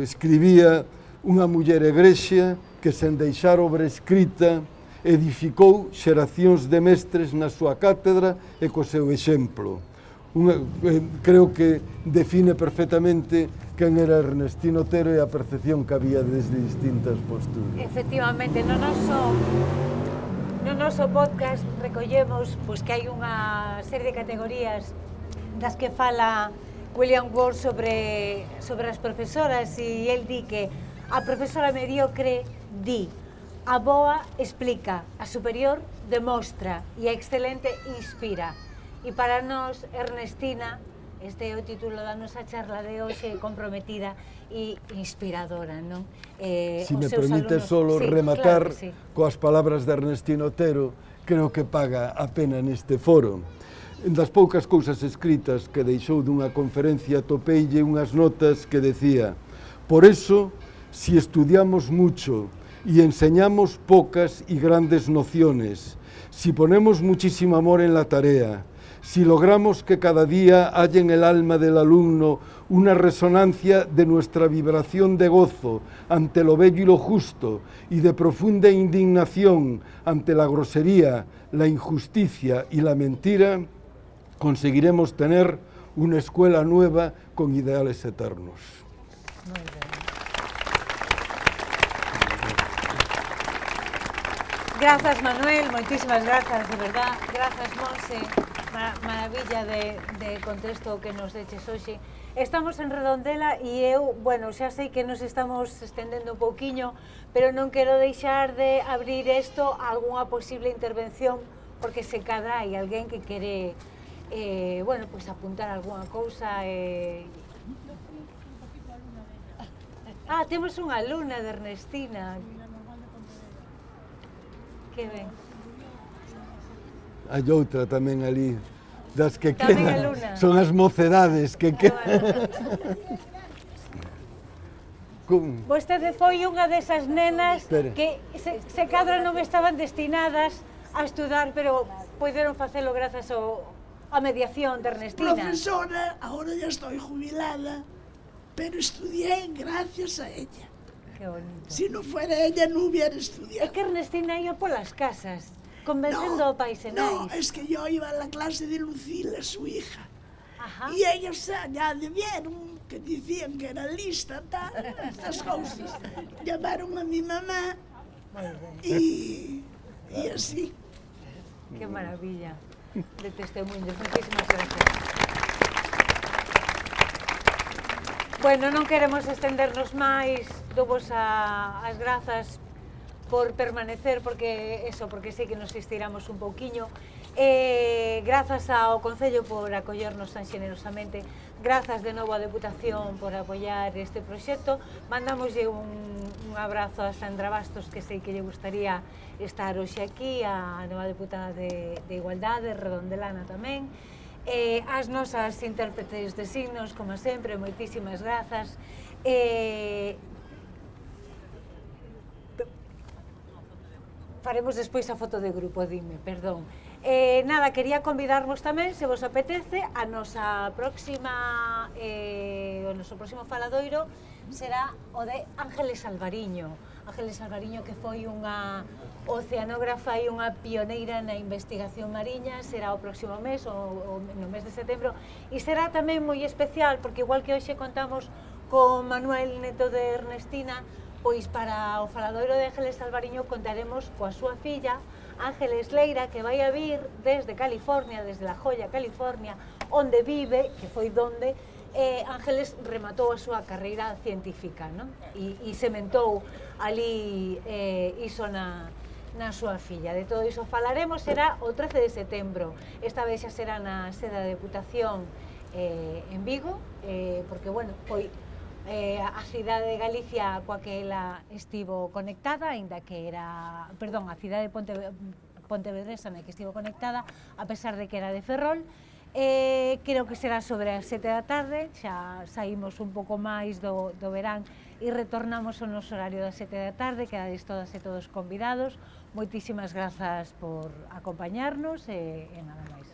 escribía: unha muller egrexa que sen deixar obra escrita edificou xeracións de mestres na súa cátedra e co seu exemplo. Creo que define perfectamente quen era Ernestino Otero e a percepción que había desde distintas posturas. Efectivamente, no noso podcast recollemos que hai unha serie de categorías das que fala William Ward sobre as profesoras, e el di que a profesora mediocre di: a boa explica, a superior demostra e a excelente inspira. E para nós, Ernestina, este é o título da nosa charla de hoxe, comprometida e inspiradora, non? Si me permite solo rematar coas palabras de Ernestino Otero, creo que paga a pena neste foro. En das poucas cousas escritas que deixou dunha conferencia topeille unhas notas que decía: por eso, si estudiamos mucho y enseñamos pocas y grandes nociones, si ponemos muchísimo amor en la tarea, si logramos que cada día haya en el alma del alumno una resonancia de nuestra vibración de gozo ante lo bello y lo justo y de profunda indignación ante la grosería, la injusticia y la mentira, conseguiremos tener una escuela nueva con ideales eternos. Muy bien. Grazas, Manuel, moitísimas grazas, de verdad. Grazas, Monse, maravilla de contexto que nos deches hoxe. Estamos en Redondela e eu, bueno, xa sei que nos estamos estendendo un pouquiño, pero non quero deixar de abrir isto a algunha posible intervención, porque se cadra hai alguén que quere, bueno, pois apuntar algunha cousa. Ah, temos unha alumna de Ernestina. Que ben. Hai outra tamén ali, das que quedan, son as mocedades que quedan. Vostede foi unha desas nenas que se cadra non estaban destinadas a estudar, pero poderon facelo grazas á mediación de Ernestina. Profesora, agora ya estoy jubilada, pero estudié gracias a ella. Qué bonito. Si no fuera ella, no hubiera estudiado. Es que Ernestina iba por las casas, convenciendo a paisenais. No, es que yo iba a la clase de Lucila, su hija. Ajá. Y ellos ya vieron que decían que era lista, tal, estas cosas. Llamaron a mi mamá y así. Qué maravilla de testimonios. Muchísimas gracias. Bueno, non queremos estendernos máis, dovos as grazas por permanecer, porque sei que nos estiramos un pouquiño. Grazas ao Concello por acollernos tan xenerosamente, grazas de novo á Deputación por apoiar este proxecto. Mandamoslle un abrazo a Sandra Bastos, que sei que lle gustaría estar hoxe aquí, a nova deputada de Igualdade, redondelana tamén. As nosas intérpretes de signos, como sempre, moitísimas grazas. Faremos despois a foto de grupo, dime, perdón. Nada, quería convidarvos tamén, se vos apetece, a nosa próxima, o noso próximo faladoiro será o de Ángeles Alvariño. Ángeles Alvariño, que foi unha oceanógrafa e unha pioneira na investigación mariña, será o próximo mes, no mes de setembro, e será tamén moi especial, porque igual que hoxe contamos con Manuel Neto de Ernestina, pois para o faladoiro de Ángeles Alvariño contaremos coa súa filla, Ángeles Leira, que vai a vir desde California, desde La Joya, California, onde vive, que foi donde Ángeles rematou a súa carreira científica, non? E sementou ali iso na súa filla. De todo iso falaremos, será o 13 de setembro. Esta vez xa será na sede da Deputación en Vigo, porque, bueno, foi a cidade de Galicia coa que ela estivo conectada, aínda que era, perdón, a cidade de Pontevedresa na que estivo conectada, a pesar de que era de Ferrol. Creo que será sobre as 7 da tarde, xa saímos un pouco máis do verán e retornamos ao noso horario das 7 da tarde, quedades todas e todos convidados. Moitísimas grazas por acompañarnos e nada máis.